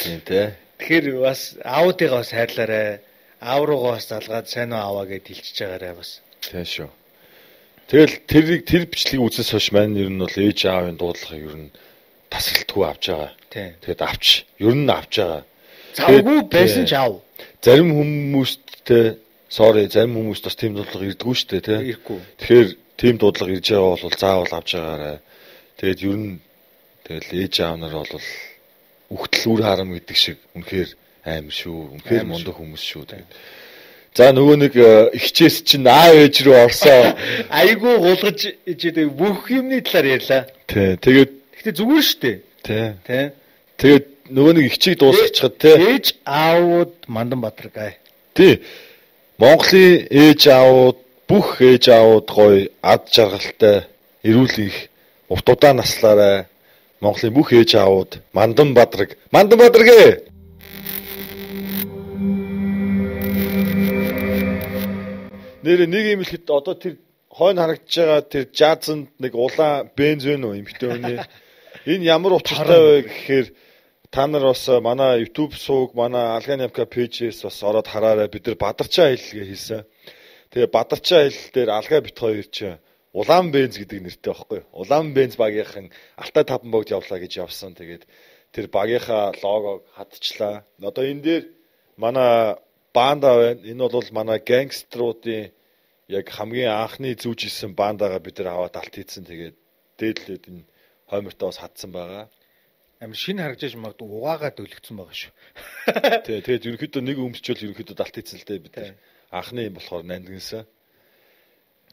Тийм тий. Тэгэхээр бас аавуудыгаа бас хайрлаарай. Аав руугаа бас залгаад сайн уу аваа гэж хэлчихэж байгаарай бас. Тийм шүү. Тэгэл тэрийг тэр бичлэгийг үзээс хойш маань ер нь бол ээж аавын дуудлагыг ер нь тасралтгүй авч байгаа. Тийм. Тэгэд авч. Ер нь авч байгаа. Завгүй байсан ч аав. Зарим хүмүүст те sorry зарим хүмүүст бас тийм дуудлага ирдэггүй шүү дээ тий. Ирэхгүй. Тэгэхээр тийм дуудлага ирж байгаа бол заавал авч байгаарай. Тэгээд ер нь тэгэл ээж аав нар бол үхтэл үр харам гэдэг шиг үнэхээр аим шүү. Үнэхээр мундаг хүмүүс шүү. Тэгээд за нөгөө нэг ихчээс чинь аав ээж рүү орсоо. Айгуу гулгаж ичээд бүх юмны талаар ярьлаа. Тий. Тэгээд гэтээ зүгээр шүү дээ. Тий. Тий. Тэгээд нөгөө нэг ихчийг дуусгачихад тий. Ээж аавууд Мандан Батраг ай. Тий. Монголын ээж аавууд бүх ээж аавууд гоё ад жаргалтай эрүүл их утуудаа наслаарай. Монголын бүх ээж аавууд Мандан Батраг Мандан Батраг ээ. Нэр нэг юм л хэд одоо тэр хойно харагдаж байгаа тэр жазанд нэг улаан бензин үү эмхтэй өнөө. Энэ ямар учиртай вэ гэхээр та нар бас манай YouTube сууг манай Алган Ямка пэйжээс бас ороод хараарай. Бид нар Бадарчин аялалгээ хийсэн. Тэгээ Бадарчин аялал дээр Алгаа бит хоёр чи улаан бенз гэдэг нэртэй байхгүй. Улаан бенз багийнхан Алтай таван богд явлаа гэж явсан. Тэгээд тэр багийнхаа логог хатчлаа. Одоо энэ дээр манай банда байна. Энэ бол манай гангстеруудын яг хамгийн анхны зүүж исэн бандагаа бид нар аваад алт хийсэн. Тэгээд дээдлээд энэ хоймортоо бас хатсан байгаа. Амар шинэ харагдаж магадгүй угаагаад өлгцсөн байгаа шүү. Тий, тэгээд ерөнхийдөө нэг өмсчөөл ерөнхийдөө далт хийсэн л дээ бид. Анхны юм болохоор нандинсан.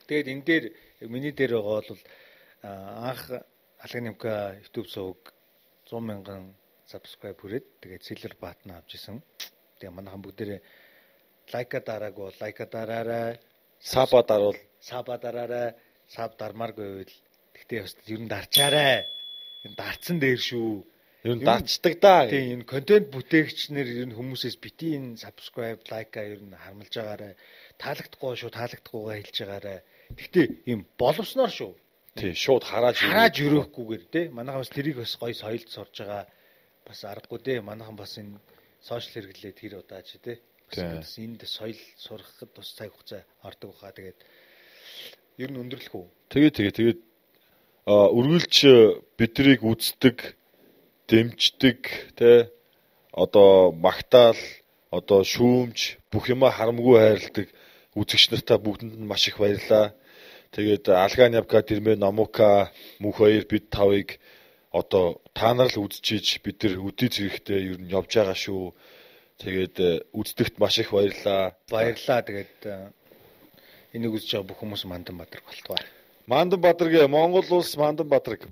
Тэгээд энэ дээр миний дээр байгаа бол анх Алган Ямка YouTube сувг зуун мянган subscribe хүрээд тэгээд Silver button авч исэн. Тэгээд манайхан бүгдээрээ лайка дараагүй лайка дараарай. Саба даруул саба дараарай. Саб дармааргүй байвал тэгтээ бас ер нь дарчаарай. Энэ дарцсан дээр шүү. Ер нь дарчдаг да. Тийм энэ контент бүтээгчнэр ер нь хүмүүсээс бити энэ subscribe, like-а ер нь хармалж байгаарай. Таалагдахгүй шүү, таалагдахгүйгээ хэлж байгаарай. Гэхдээ юм боловсноор шүү. Тийм шууд харааж харааж өрөөхгүйгээр тий. Манайхан бас тэрийг бас гоё соёлд сорж байгаа. Бас аргагүй тий. Манайхан бас энэ сошиал хэрэглээд тэр удаач тий. Бас энд соёл сурахад бас цаг хугацаа ордог баха. Тэгээд ер нь өндөрлөх үү. Тэгээ тэгээ тэгээд үргэлж биднийг үздэг, дэмждэг, тэ одоо магтаал, одоо шүүмж бүх юма харамгүй хайрладаг үзэгч нартаа бүгдэнд нь маш их баярлалаа. Тэгээд Алган Ямка, Дэрмэ Номука, мөнх хоёр бид тавыг одоо та нар л үзчихийж бид нар өдий зэрэгтэй ер нь явж байгаа шүү. Тэгээд үздэгт маш их баярлалаа. Баярлалаа. Тэгээд энийг үзэж байгаа бүх хүмүүс Мандан Батраг болтугай. Мандан Батраг, Монгол улс Мандан Батраг.